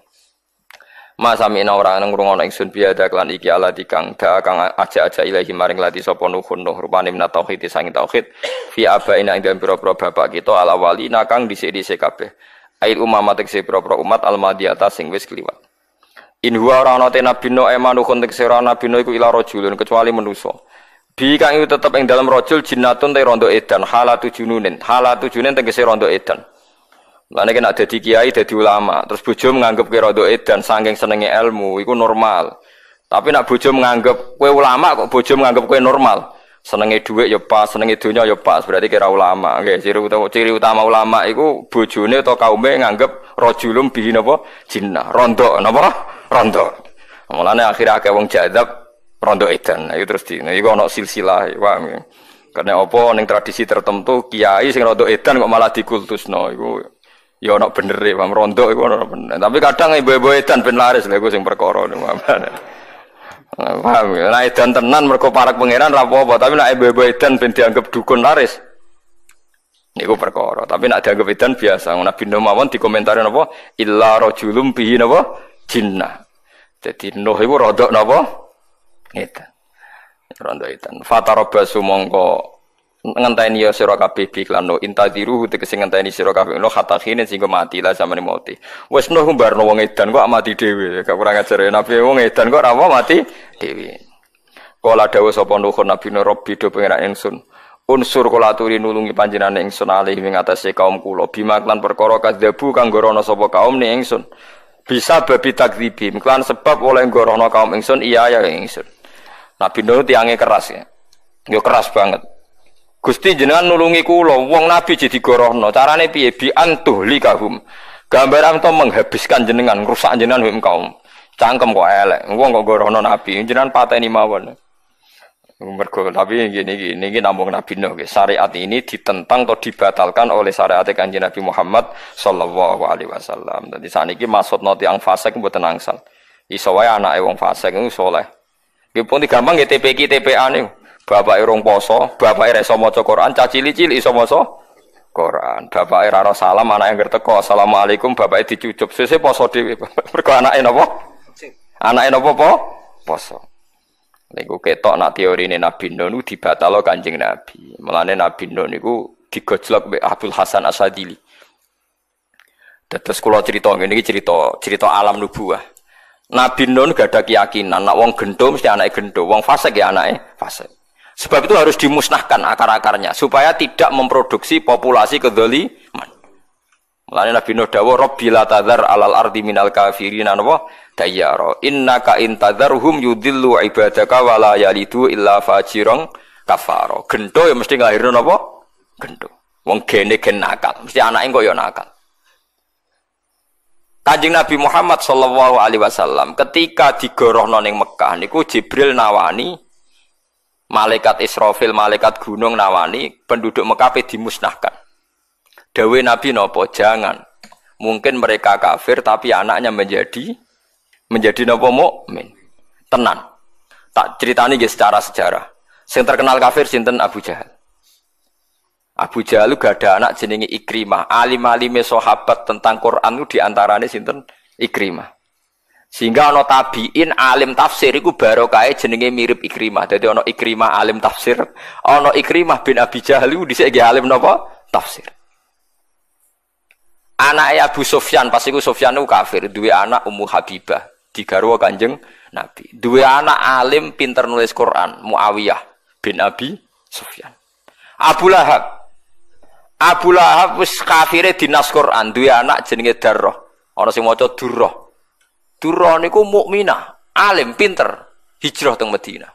Masamina ora ngrungokno ingsun biada kelan iki ala dikang da kang aja-aja ilahi maring lati sapa nuhun nuh rupane minat tauhid sanging tauhid fi abaina ing dalem pira-pira bapak kita ala walina kang dhisik-dhisik kabeh ail umamat tegese pira-pira umat al madiyata sing wis kliwat in huwa ora ana te nabi no emanuhun tegese ora nabi no iku ila rajulun kecuali manusa bi kang iku tetep ing dalem rajul jinnatun te rondo edan halatu jununin halatu jununin tegese rondo edan. Mulane kena dadi kiai, dadi ulama, terus bojo menganggap kowe rada edan saking senenge ilmu, iku normal. Tapi nek bojo menganggap kowe ulama kok bojo menganggap kowe normal. Senenge dhuwit ya pas, senenge donya ya pas, berarti kira ulama. Nggih, ciri utama ciri utama ulama iku bojone atau kaume nganggep rajulum bihi napa jinnah, rondo napa? Rondo. Mulane akhire akeh wong jadab rondo edan. Iku terus di iku ana silsilah, paham ya. Karena apa ning tradisi tertentu kiai sing rondo edan kok malah dikultusno iku ya ana benere, paham rondo iku ana bener. Tapi kadang ibu-ibu edan ben laris lha iku sing perkara niku. Paham ya? Nek edan tenan mergo parek pangeran ra apa-apa, tapi nek ibu-ibu edan ben dianggap dukun laris niku perkara. Tapi nek dianggap edan biasa. Nabi Nuh mawon dikomentari napa? Illa rajulum bihi napa? Jinnah. Dadi Nuh iku rodok napa? Edan. Rondo edan. Fatarabasu mongko ngenteni ya sira kabeh bi lan no intadiru tegese ngenteni sira kabeh no khatakhine sing mati lah zamane mati. Wis Nuh mbarno wong edan kok mati dhewe. Gak kurang ajar ya nabi wong edan kok ora mati dhewe. Kala dawuh sapa Nuh nabi no Rabbi do pangeran ingsun. Unsur kula aturi nulungi panjenengan ingsun alih ing atase kaum kula bima lan perkara kadzabu kang gorono sapa kaum ni ingsun. Bisa babi takdzibim lan sebab oleh gorono kaum ingsun iya ya ingsun. Nabi Nuh tiange keras ya. Yo keras banget. Gusti jenengan nulungi kula, wong nabi jadi gorohno. Carane piye? Bi antuhlikahum. Gambaran to menghabiskan jenengan, ngrusak jenengan hum kaum. Cangkem kok elek. Wong kok gorohno nabi, jenengan pateni mawon. Mergo tapi ngene iki, niki namung nabi Nuh. Syariat ini ditentang atau dibatalkan oleh syariat Kanjeng Nabi Muhammad sallallahu alaihi wasallam. Dadi saniki maksudno tiyang fasik mboten angsal. Iso wae anake wong fasik iku saleh. Nggih pun gampang nggih T P Q T P A niku. Bapake rong poso, bapake ra iso maca Quran, cah cilik-cilik iso maca Quran. Bapake ra ro salam, anake anggere teko, assalamualaikum, bapake dicucup. Sesuk poso dhewe. Mergo anake napa? Anake napa po? Poso. Niku ketok nak teorine Nabi Nuh niku dibatalo Kanjeng Nabi. Mulane Nabi Nuh niku digojlok mbek Abdul Hasan Asadili. Dados kula crita ngene iki cerita cerita alam nubuwah. Nabi Nuh gak ada keyakinan nak wong gendo mesti anake gendo, wong fasik ya anake fasik. Sebab itu harus dimusnahkan akar-akarnya supaya tidak memproduksi populasi kedzaliman. Mulane Nabi Nuh dawuh Rabbi la tadhar alal ardi minal kafirina napa dayyara innaka intadharhum yudillu ibadaka wa la yalidu illa fajiran kafara. Gendo ya mesti nglahirno napa? Gendo. Wong gene gen nakal, mesti anake kok ya nakal. Kanjeng Nabi Muhammad sallallahu alaihi wasallam ketika digorohno ning Mekah niku Jibril nawani malaikat Israfil, malaikat gunung nawani penduduk Mekah pe dimusnahkan. Dawe Nabi nopo? Jangan. Mungkin mereka kafir tapi anaknya menjadi menjadi nopo mukmin. Tenan. Tak ceritani nggih secara sejarah. Sing terkenal kafir sinten? Abu Jahal. Abu Jahal gak ada anak jenenge Ikrimah. Alim-alime sahabat tentang Quran itu diantarane sinten? Ikrimah. Sehingga ana tabiin alim tafsir iku barokahe jenenge mirip Ikrimah. Dadi ana Ikrimah alim tafsir, ana Ikrimah bin Abi Jahal iku dhisik nggih alim napa? Tafsir. Anake Abu Sufyan, pas iku Sufyan iku kafir, duwe anak Ummu Habibah, digarwa Kanjeng Nabi. Duwe anak alim pinter nulis Quran, Muawiyah bin Abi Sufyan. Abu Lahab Abu Lahab wis kafire dinas Quran, duwe anak jenenge Darrah. Ana sing maca Durrah. Durrah niku mukminah, alim, pinter, hijrah teng Madinah.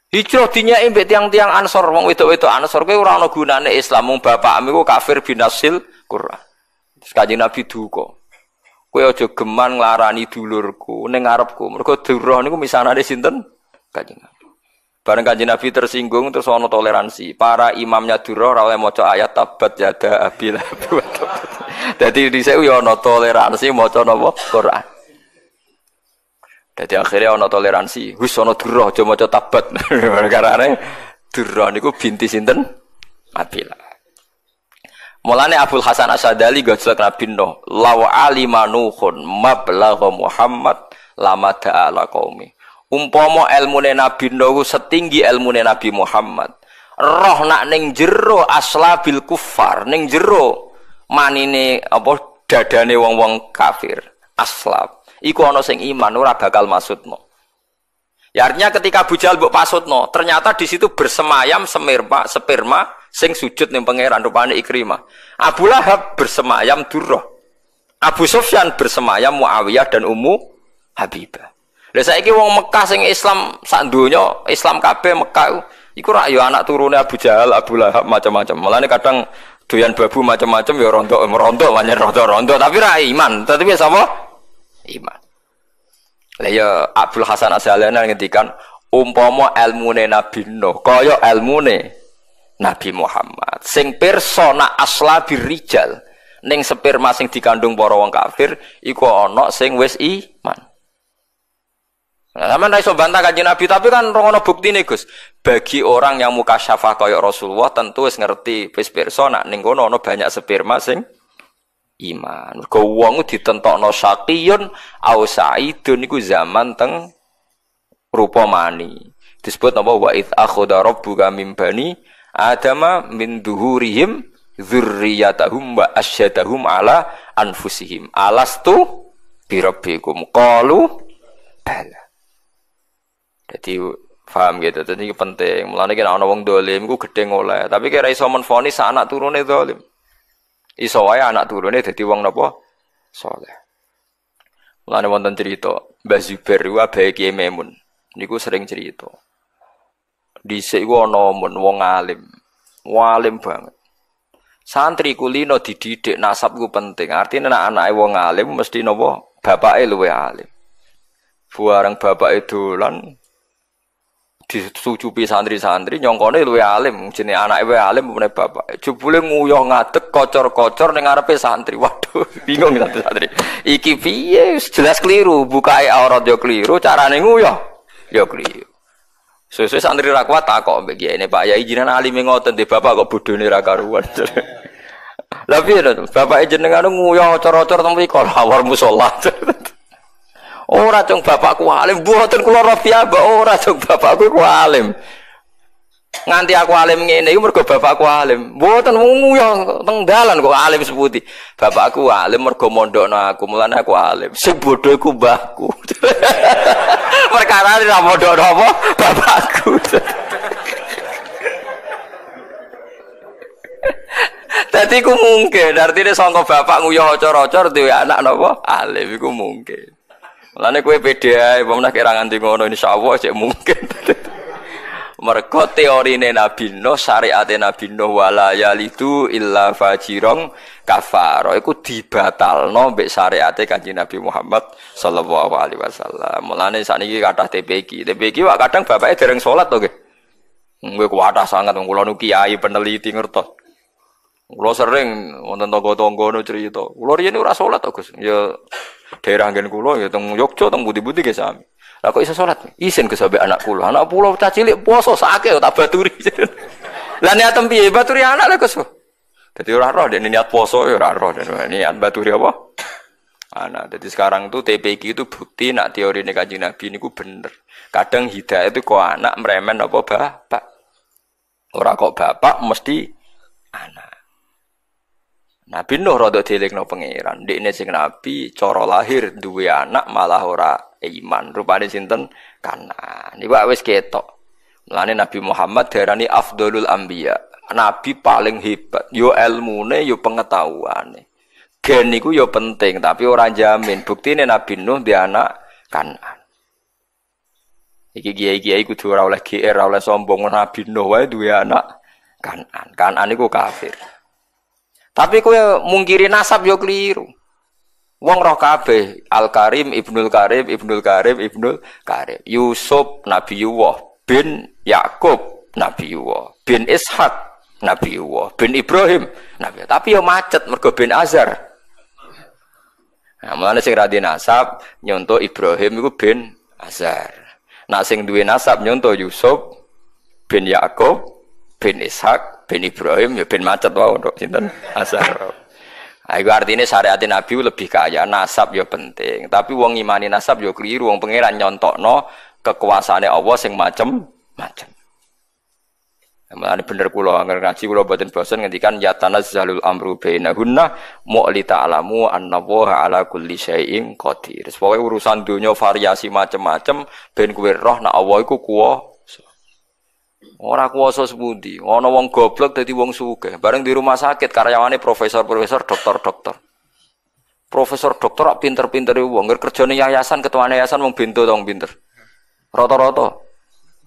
Hijrah dinyeki mbek tiyang-tiyang Ansor, wong wedok-wedok Ansor kuwi ora ana gunane Islam, wong bapakmu iku kafir binasil Quran. Terus Kanjeng Nabi duka. Kowe aja geman nglarani dulurku ning ngarepku. Mergo Durrah niku misanane sinten? Kanjeng Nabi. Bareng Kanjeng Nabi tersinggung terus ana toleransi. Para imamnya Durrah ora oleh maca ayat tabat yada abi lahab. Dadi dhisik yo ana toleransi maca napa Quran. Dadi akhirnya ana toleransi. Wis ana Durrah aja maca tabat. Perkarane Durrah niku binti sinten? Abi Lahab. Mulane Abul Hasan Asy-Syadzali gojlok Nabi Nuh, law alima Nuhun mablagha Muhammad lama da'ala qaumi. Umpama elmune Nabi Nuh setinggi elmune Nabi Muhammad, roh nak ning jero aslabil kufar, ning jero manine apa dadane wong-wong kafir, aslab. Iku ana sing iman ora bakal maksudno. Ya artinya ketika Abu Jahal mbok pasutno, ternyata di situ bersemayam semirma, sperma sing sujud ning pangeran rupane Ikrimah. Abu Lahab bersemayam Durrah. Abu Sufyan bersemayam Muawiyah dan Ummu Habibah. Lah saiki wong Mekah sing Islam sak donya, Islam kabeh Mekah iku rak ya anak turune Abu Jahal, Abu Lahab macam-macam. Mulane kadang doyan babu macam-macam ya rontok merontok pancen rontok-rontok tapi ra iman. Tapi sapa? Iman. Lah ya Abdul Hasan Asy-Syadzali ngendikan umpama elmune Nabi Nuh kaya elmune Nabi Muhammad sing pirsa nak aslabir rijal ning sperma sing dikandung para wong kafir iku ana sing wis iman. Nah, sampean ra iso bantah Kanjeng Nabi tapi kan ora ono buktine, Gus. Bagi orang yang mukasyafah kaya Rasulullah tentu wis ngerti wis pirsa nak ning kono ana banyak sperma sing iman. Mergo wong ditentokno syaqiyun au sa'idun niku zaman teng rupa mani. Disebut napa wa id akhadha rabbuka min bani adama min duhurihim dzurriyyatahum wa asyhadahum ala anfusihim. Alastu birabbikum qalu bala. Jadi paham gitu. Jadi ini penting. Mulane nek ana wong dolim iku gedhe oleh, tapi kira iso menvonis anak turune dolim. Iso wae anak turune dadi wong napa? Saleh. Mulane wonten cerita, Mbah Zubair iku abahe Kiai Maimun. Niku sering cerita. Dhisik iku ana mun wong alim. Alim banget. Santri kulino dididik nasab ku penting. Artine nek anake wong alim mesti napa? Bapake luwe alim. Bareng bapake dolan disucupi santri-santri nyongkone luwe alim, jenenge anake luwe alim meneh bapak. Jebule nguyuh ngadeg kocor-kocor ning ngarepe santri. Waduh, bingung santri-santri. Iki piye? Jelas keliru, bukae aurat yo keliru, carane nguyuh yo keliru. Suwe-suwe santri ra kuat takok mbek kiyaine, Pak Yai jenengan alime ngoten, de bapak kok bodhone ra karuan. Lah piye to? Bapake jenengan nguyuh ocor-ocor teng mriku lawar musala. Ora cung bapakku alim, mboten kula roh piyambak ora cung bapakku ku alim. Nganti aku alim ngene iku mergo bapakku alim. Mboten nguyuh teng dalan kok alim seputi. Bapakku alim mergo mondokno aku, mulane aku alim. Sing bodho iku mbahku. Perkara ora mondokno apa bapakku. Dadi iku mungkin, artine sangka bapak nguyuh ocor-ocor duwe anak napa alim iku mungkin. Mulane kowe pede ae, apa meneh kira nganti ngono insyaallah cek mungkin. Mergo teorine Nabi Nuh, syariate Nabi Nuh wala yalidu illa fajirong kafaro iku dibatalno mbek syariate Kanjeng Nabi Muhammad sallallahu alaihi wasallam. Mulane sakniki kathah T P Q. T P Q wak kadang bapake dereng salat to nggih. Nggih kuwathah sangat wong kula nu kiai peneliti ngertos. Kula sering wonten tangga-tangga nu cerita. Kula riyen ora salat to Gus. Ya daerah nggen kula ya teng Yogya teng pundi-pundi nggih sami. Lah kok iso salat? Isin Gus sampe anak kula. Anak kula cah cilik puasa sakake tak baturi. Lah niatem piye baturi anak lho Gus. Dadi ora roh dene niat puasa ya ora roh dene niat baturi apa? Anak. Jadi sekarang tuh T P Q itu bukti nak teorine Kanjeng Nabi niku bener. Kadang hidayah itu kok anak meremen apa bapak. Ora kok bapak mesti anak. Nabi Nuh rada dielingno pangeran. Ndekne sing nabi cara lahir duwe anak malah ora iman. Rupane sinten? Kanan. Niku wis ketok. Mulane Nabi Muhammad diarani afdholul anbiya. Nabi paling hebat. Yo elmune, yo pengetahuane. Gen niku yo penting, tapi ora jamin. Buktine Nabi Nuh duwe anak Kanan. Iki kiai-kiai kudu ora oleh G R, ora oleh sombong. Nabi Nuh wae duwe anak Kanan. Kanan niku kafir. Tapi kowe mungkiri nasab yo keliru. Wong roh kabeh Al-Karim, Ibnul Karim, Ibnul Karim, Ibnul Karim. Yusuf Nabiyullah bin Yakub Nabiyullah bin Ishak Nabiyullah bin Ibrahim Nabi. Tapi yo macet mergo bin Azar. Nah, mulane sing ra nasab nyonto Ibrahim iku bin Azar. Nak sing duwe nasab nyonto Yusuf bin Yakub bin Ishak bin Ibrahim ya bin macet wae untuk sinten Azar. Nah, iku artine syariat Nabi lebih kaya, nasab ya penting, tapi wong ngimani nasab ya keliru, wong pangeran nyontokno kekuasaane Allah sing macem-macem. Mulane bener kula angger ngaji kula mboten bosen ngendikan ya tanazzalul amru bainahunna mu'li ta'lamu annallaha ala kulli syai'in qadir. Pokoke urusan donya variasi macem-macem ben kowe roh nek Allah iku kuwasa. Ora kuwasa sepundi, ana wong goblok dadi wong sugih. Bareng di rumah sakit karyawane profesor-profesor, dokter-dokter. Profesor dokter kok pinter-pintere wong, ngger kerjane yayasan, ketuane yayasan wong bento ta wong pinter. Rata-rata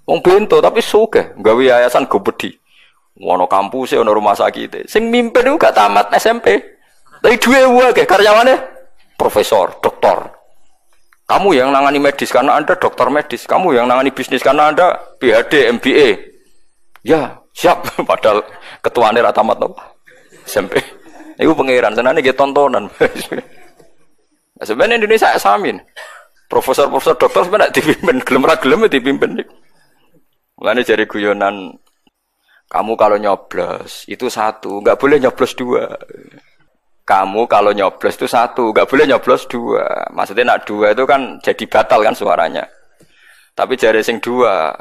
wong bento tapi sugih, gawe yayasan gobedi. Ono kampuse, ono rumah sakit. Sing mimpin iku gak tamat S M P. Tapi duwe akeh karyawane profesor, dokter. Kamu yang nangani medis karena Anda dokter medis, kamu yang nangani bisnis karena Anda P H D, M B A. Ya, siap. Padahal ketuane ra tamat apa? S M P. Iku pangeran senane nggih tontonan. Nah, sebenarnya Indonesia samin. Profesor-profesor dokter sebenarnya dipimpin, gelem ra gelem dipimpin. Mulane jare guyonan, kamu kalau nyoblos itu satu, nggak boleh nyoblos dua. Kamu kalau nyoblos itu satu, nggak boleh nyoblos dua. Maksudnya nak dua itu kan jadi batal kan suaranya. Tapi jare sing dua,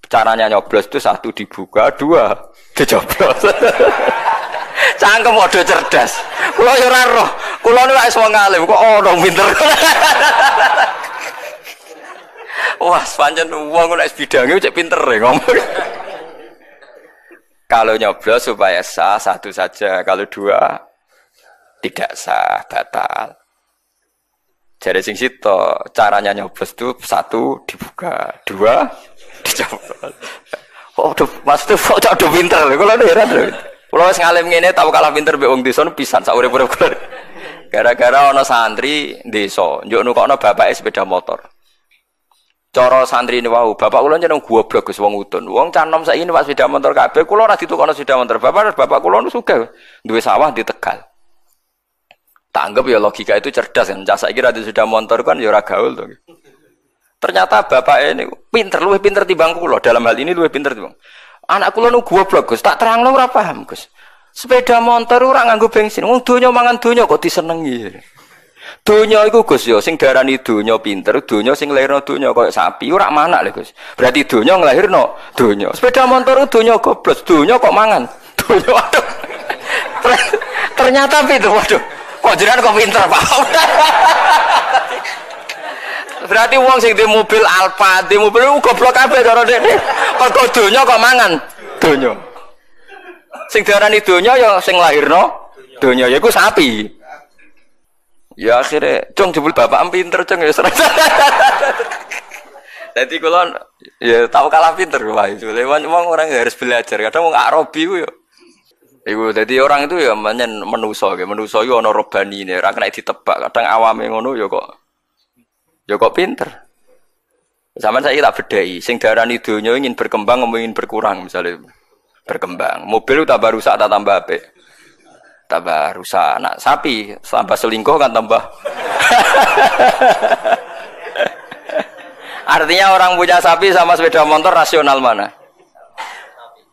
caranya nyoblos itu satu dibuka, dua dicoblos. Cangkem padha cerdas. Kula yo ora roh. Kula niku wis wong alim kok ono pinter. Wah, pancen wong nek bidange cek pinter e ngomong. Kalau nyoblos supaya sah satu saja, kalau dua tidak sah, batal. Jare sing sito, caranya nyoblos itu satu dibuka, dua dicoblos. Oh, Mas tuh kok udah pinter lho. Kula heran lho. Kula wis ngalim ngene tau kalah pinter mbek wong desa pisan sak urip-urip kula. Gara-gara ana santri desa, njuk nukokno bapake sepeda motor. Cara santri ini wau, bapak kula jeneng goblok Gus wong udun. Wong cah nom saiki numpak sepeda motor kabeh, kula ora ditukokno sepeda motor. Bapak bapak kula nu sugih, duwe sawah di Tegal. Tak anggap ya logika itu cerdas kan. Cah saiki ra sepeda motor kan ya ora gaul to. Ternyata bapak ini pinter, luwih pinter timbang kula. Dalam hal ini luwih pinter timbang. Anak kula nu goblok Gus, tak terangno ora paham Gus. Sepeda motor ora nganggo bensin. Wong donya mangan donya kok disenengi. Donya iku Gus ya sing diarani donya pinter, donya sing nglairno donya koyo sapi ora manak lho Gus. Berarti donya nglahirno donya. Sepeda motor donya goblok, donya kok mangan. Donya waduh. Ternyata pinter waduh. Kok jenengan kok pinter, Pak. Berarti wong sing di mobil Alfa, di mobil iku goblok kabeh cara dekne. Pergo donya kok mangan donya. Sing diarani donya ya sing nglahirno donya yaiku sapi. Ya akhirnya, cung jebul bapak pinter cung ya. Dadi kula ya tau kalah pinter wae. Wong orang harus belajar. Kadang wong Arabi ku ya iku dadi orang itu ya menyen menusa nggih. Menusa iku ana robanine, ora kena ditebak. Kadang awame ngono ya kok ya kok pinter. Zaman saya tak bedheki, sing darani donya ingin berkembang apa ingin berkurang misalnya. Berkembang. Mobil tambah rusak tak tambah apik. Tambah rusak. Nak sapi tambah selingkuh kan tambah. Artinya orang punya sapi sama sepeda motor rasional mana?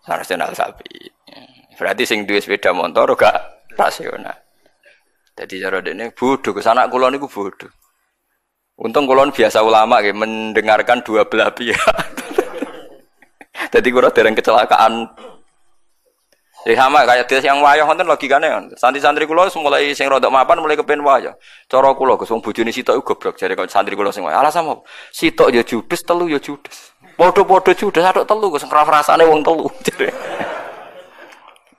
Rasional sapi. Berarti sing duwe sepeda motor gak rasional. Jadi cara dekne bodoh, anak kula niku bodoh. Untung kula biasa ulama nggih mendengarkan dua belah pihak. Jadi kula dereng kecelakaan. Ya sama kayak dia yang wayah wonten logikane. Santri-santri kula mulai sing rodok mapan mulai kepen wayah. Cara kula Gus wong bojone sitok iku goblok jare kok santri kula sing wayah. Alasan apa? Sitok ya judes, telu ya judes. Padha-padha judes atok telu Gus ngrasane wong telu.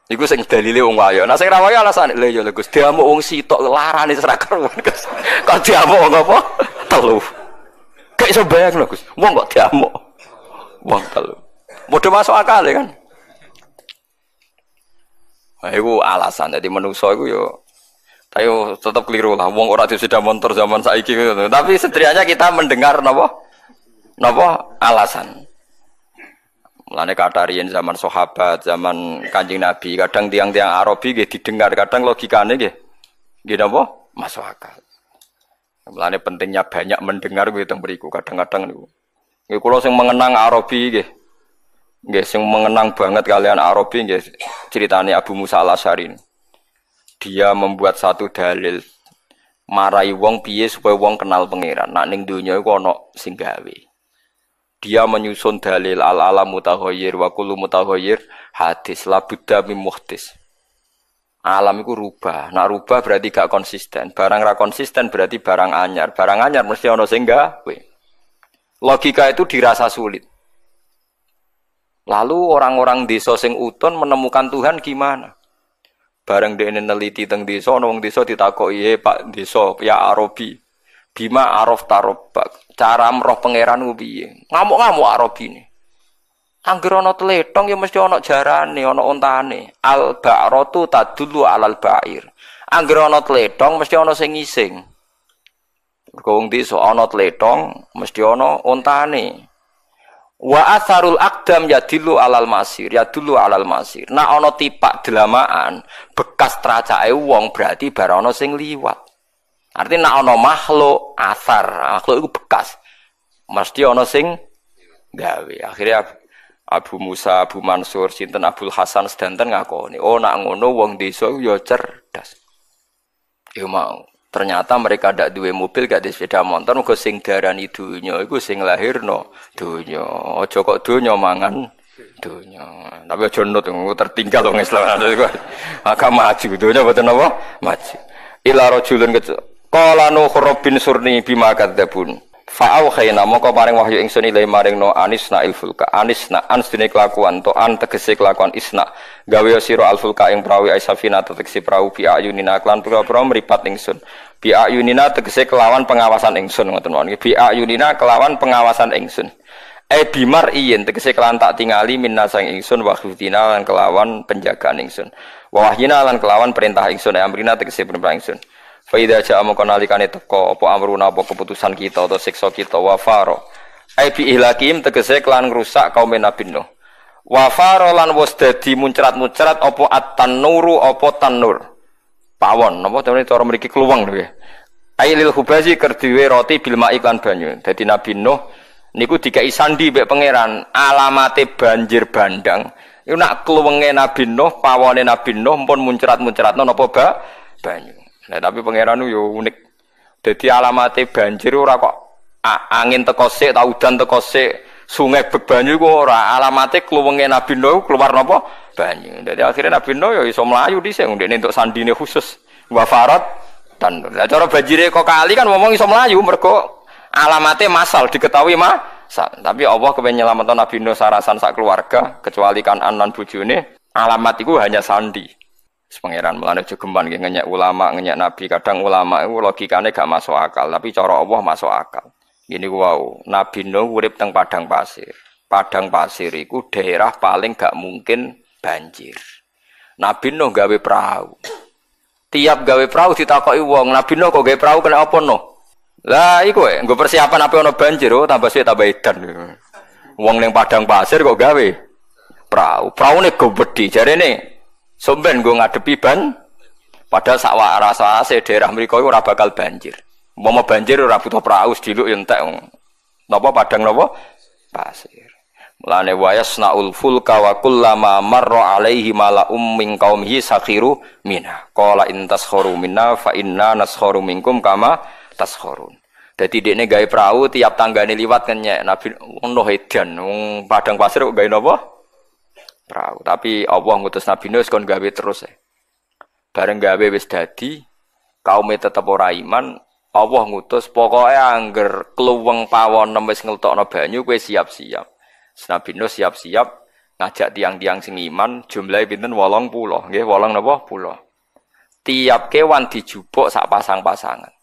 Iku sing dalile wong wayah. Nah sing ra wayah alasane lha ya lho Gus diamuk wong sitok larane ora karuan Gus. Kok diamuk wong apa? Telu. Gak iso bayangno Gus. Wong kok diamuk wong telu. Padha masuk akal ya kan. Nah, itu alasan. Jadi manusa iku yo ayo tetep keliru lah. Wong ora sepeda motor zaman saiki. Tapi setidaknya kita mendengar napa? Napa alasan. Mulane kata riyen zaman sahabat, zaman Kanjeng Nabi, kadang tiang-tiang Arabi nggih didengar, kadang logikane nggih nggih napa? Masuk akal. Mulane pentingnya banyak mendengar kuwi teng mriku kadang-kadang niku. Nggih kula sing mengenang Arabi nggih. Nggih sing mengenang banget kalian Arabi nggih ceritane Abu Musa Al-Asy'ari. Dia membuat satu dalil marai wong piye supaya wong kenal pangeran. Nak ning donya iku ana sing gawe. Dia menyusun dalil al-alam mutaghayyir wa kullu mutaghayyir hadis la budda mim muhdis. Alam iku rubah. Nak rubah berarti gak konsisten. Barang ra konsisten berarti barang anyar. Barang anyar mesti ana sing gawe. Logika itu dirasa sulit. Lalu orang-orang desa sing utun menemukan Tuhan gimana? Bareng dekne neliti teng desa, ana wong desa ditakoki, "Eh Pak desa, ya Arabi, bima araf tarobak, cara roh pangeran ku piye?" Ngamuk-ngamuk Arabine. Angger ana tletong ya mesti ana jarane, ana ontane. Al ba'ratu tadullu alal ba'ir. Angger ana tletong mesti ana sing ngising. Mergo wong desa ana tletong mesti ana ontane. Wa atharul aqdam yadillu alal masir, yadullu alal masir. Nah ana tipak delamaan, bekas tracake wong berarti bar ana sing liwat. Artinya nak ana makhluk athar, makhluk iku bekas. Mesti ana sing gawe. Akhirnya Abu Musa, Abu Mansur, sinten Abdul Hasan sedanten ngakoni, oh nak ngono wong desa iku ya cerdas. Ya mau. Ternyata mereka ndak duwe mobil, gak duwe sepeda motor, mergo sing darani donya iku sing lahirno donya. Aja kok donya mangan donya. Tapi aja nut tertinggal wong Islam. Agak maju donya mboten apa? Maju. Ila rajulun qala nuh rabbin surni bima kadzabun. Fa auhayna moko paring wahyu ingsun ilahi maring no anisna ilfulka anisna ans dene kelakuan to an tegese kelakuan isna gawe sira alfulka ing prawi aisafina tegese prau bi ayunina klan pira-pira mripat ingsun bi ayunina tegese kelawan pengawasan ingsun ngoten mawon bi ayunina kelawan pengawasan ingsun e bimar iyen tegese kelan tak tingali minna sang ingsun wa khuftina lan kelawan penjagaan ingsun wa wahyina lan kelawan perintah ingsun e amrina tegese perintah ingsun. Fa idza ja'a mongko nalikane teka apa amruna apa keputusan kita atau siksa kita wa faro ai bi ihlakim tegese kelan ngrusak kaum Nabi Nuh wa faro lan wis dadi muncrat-muncrat apa at-tanuru apa tanur pawon napa cara mriki kluweng lho ai lil khubazi kerdiwe roti bil ma'i lan banyu. Dadi Nabi Nuh niku dikai sandi mbek pangeran alamate banjir bandang iku nak kluwenge Nabi Nuh pawone Nabi Nuh pun muncrat-muncratno napa ba banyu. Nah, tapi pangeran yo unik. Dadi alamate banjir ora kok angin teko sik ta udan teko sik, sungai bek banyu iku ora. Alamate kluwenge Nabi Nuh keluar napa? Banyu. Dadi akhirnya Nabi Nuh yo iso mlayu dhisik ndekne entuk sandine khusus. Wa farat dan lah cara banjire kok kali kan ngomong iso mlayu mergo alamate masal diketahui masal. Tapi Allah kepen nyelametno Nabi Nuh sarasan sak keluarga kecuali Kanan lan bojone, alamat iku hanya sandi. Pangeran mulane aja geman nggih ngenyek ulama, ngenyek nabi. Kadang ulama itu logikane gak masuk akal, tapi cara Allah masuk akal. Ngene ku wau, Nabi Nuh urip teng padang pasir. Padang pasir iku daerah paling gak mungkin banjir. Nabi Nuh gawe perahu. Tiap gawe perahu ditakoki wong, Nabi Nuh kok gawe perahu kena apa Nuh? Lah iku e, nggo persiapan apa ana banjir, oh tambah suwe tambah edan. Wong ning padang pasir kok gawe perahu. Praune gedhe, jarene somben nggo ngadepi ban. Padahal sak rasase daerah mriku iku ora bakal banjir. Umpama banjir ora butuh perahu, sediluk ya entek. Napa padang napa? Pasir. Mulane wa yasnaul fulka wa kullama marra alaihi mala'um min qaumihi sakhiru minna. Qala in taskharu minna fa inna naskharu minkum kama taskhurun. Dadi dekne gawe perahu tiap tanggane liwat kenyek Nabi Nuh edan wong padang pasir kok gawe napa? Perahu. Tapi Allah ngutus Nabi Nuh kon gawe terus. Bareng gawe wis dadi, kaume tetep ora iman, Allah ngutus pokoke angger kluweng pawon wis ngeltokno banyu kowe siap-siap. Nabi Nuh siap-siap ngajak tiang-tiang sing iman jumlahe pinten wolong puluh, nggih wolong napa puluh. Tiap kewan dijupuk sak pasang-pasangan.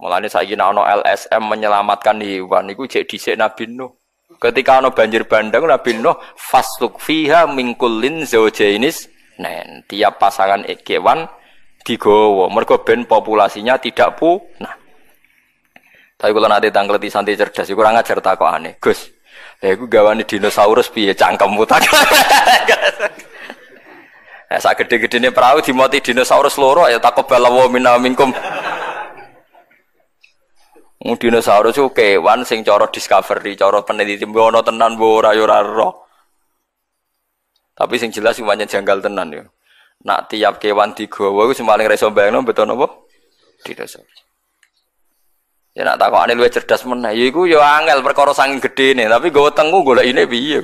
Mulane saiki nek ana L S M menyelamatkan hewan niku jek dhisik Nabi Nuh. Ketika ana banjir bandang Nabi Nuh fasluk fiha min kullin zawjainis nen, tiap pasangan kewan digowo mergo ben populasinya tidak punah. Tapi kalau nanti tangkleti santri cerdas kurang ajar takokane. Gus, lha iku gawane dinosaurus piye cangkemmu tak. Nah, sak gede-gedene perahu dimoti dinosaurus loro ya taqabbal wa minna minkum. Wong dinosaurus ku kewan sing cara discovery, cara peneliti ono tenan mbok ora ya ora roh. Tapi sing jelas sing pancen janggal tenan yo. Nak tiap kewan digawa iku sing paling ra iso bayangno beto napa? Dinosaurus. Ya nak takokane luwih cerdas meneh, ya iku ya angel perkara saking gedene, tapi nggawa tengu golekine piye.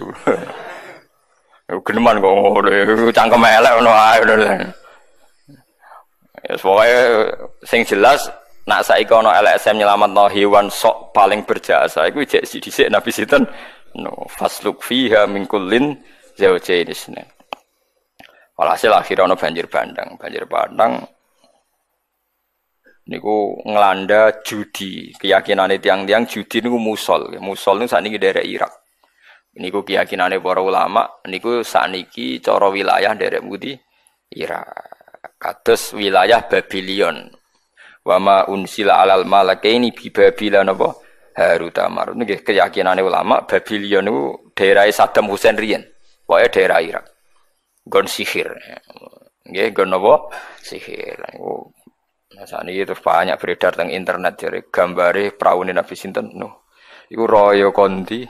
Ya geneman kok ngono, cangkem elek ngono ae. Ya pokoke sing jelas nak saiki ana L S M nyelametno hewan sok paling berjasa iku jek dhisik Nabi sinten? No fasluk fiha min kullin zawjayn isnain. Walhasil akhirnya ana banjir bandang, banjir bandang niku ngelanda judi. Keyakinane tiang-tiang judi niku musol. Musol niku sakniki daerah Irak. Niku keyakinane para ulama niku sakniki cara wilayah daerah pundi? Irak. Kados wilayah Babylon. Wa ma unsila alal malakaini bi Babila napa Harut Marut. Nggih keyakinane ulama Babylon niku daerah Saddam Hussein riyen. Pokoke daerah Irak. Gon sihir. Nggih gon napa? Sihir. Niku nah sakniki terus banyak beredar teng internet jare gambare praune Nabi sinten Nuh. Iku raya kondi.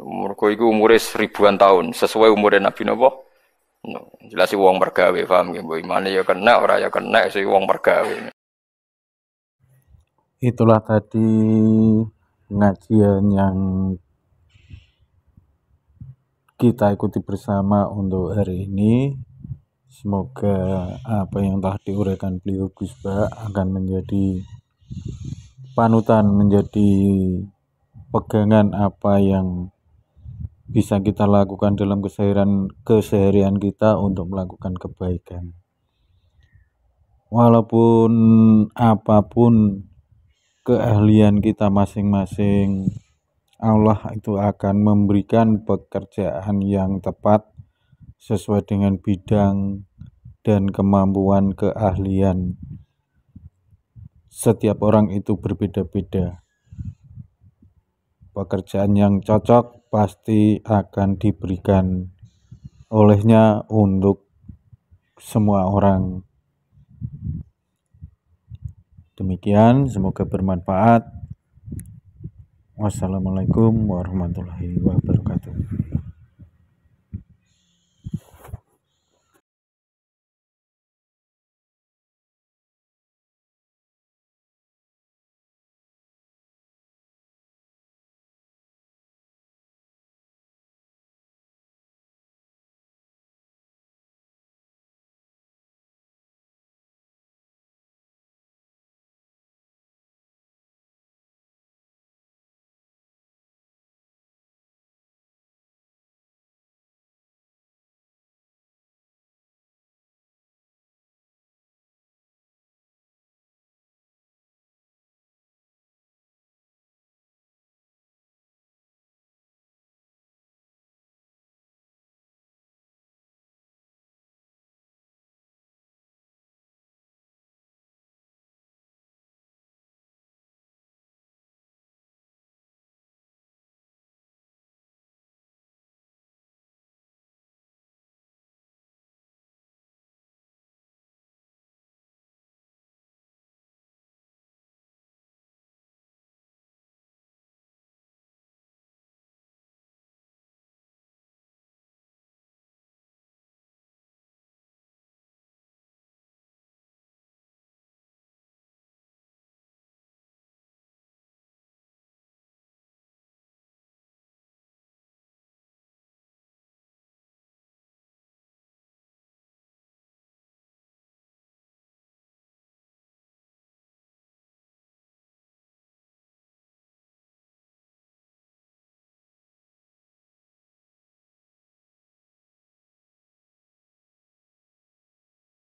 Mergo iku umure ribuan tahun sesuai umure Nabi napa? Nuh. Jelas wong mergawe paham nggih mbok imane ya kena ora ya kena sing wong mergawe. Itulah tadi pengajian yang kita ikuti bersama untuk hari ini. Semoga apa yang telah diuraikan beliau Gus Baha akan menjadi panutan, menjadi pegangan apa yang bisa kita lakukan dalam keseharian, keseharian kita untuk melakukan kebaikan. Walaupun apapun keahlian kita masing-masing, Allah itu akan memberikan pekerjaan yang tepat sesuai dengan bidang dan kemampuan keahlian. Setiap orang itu berbeda-beda. Pekerjaan yang cocok pasti akan diberikan olehnya untuk semua orang. Demikian, semoga bermanfaat. Wassalamualaikum warahmatullahi wabarakatuh.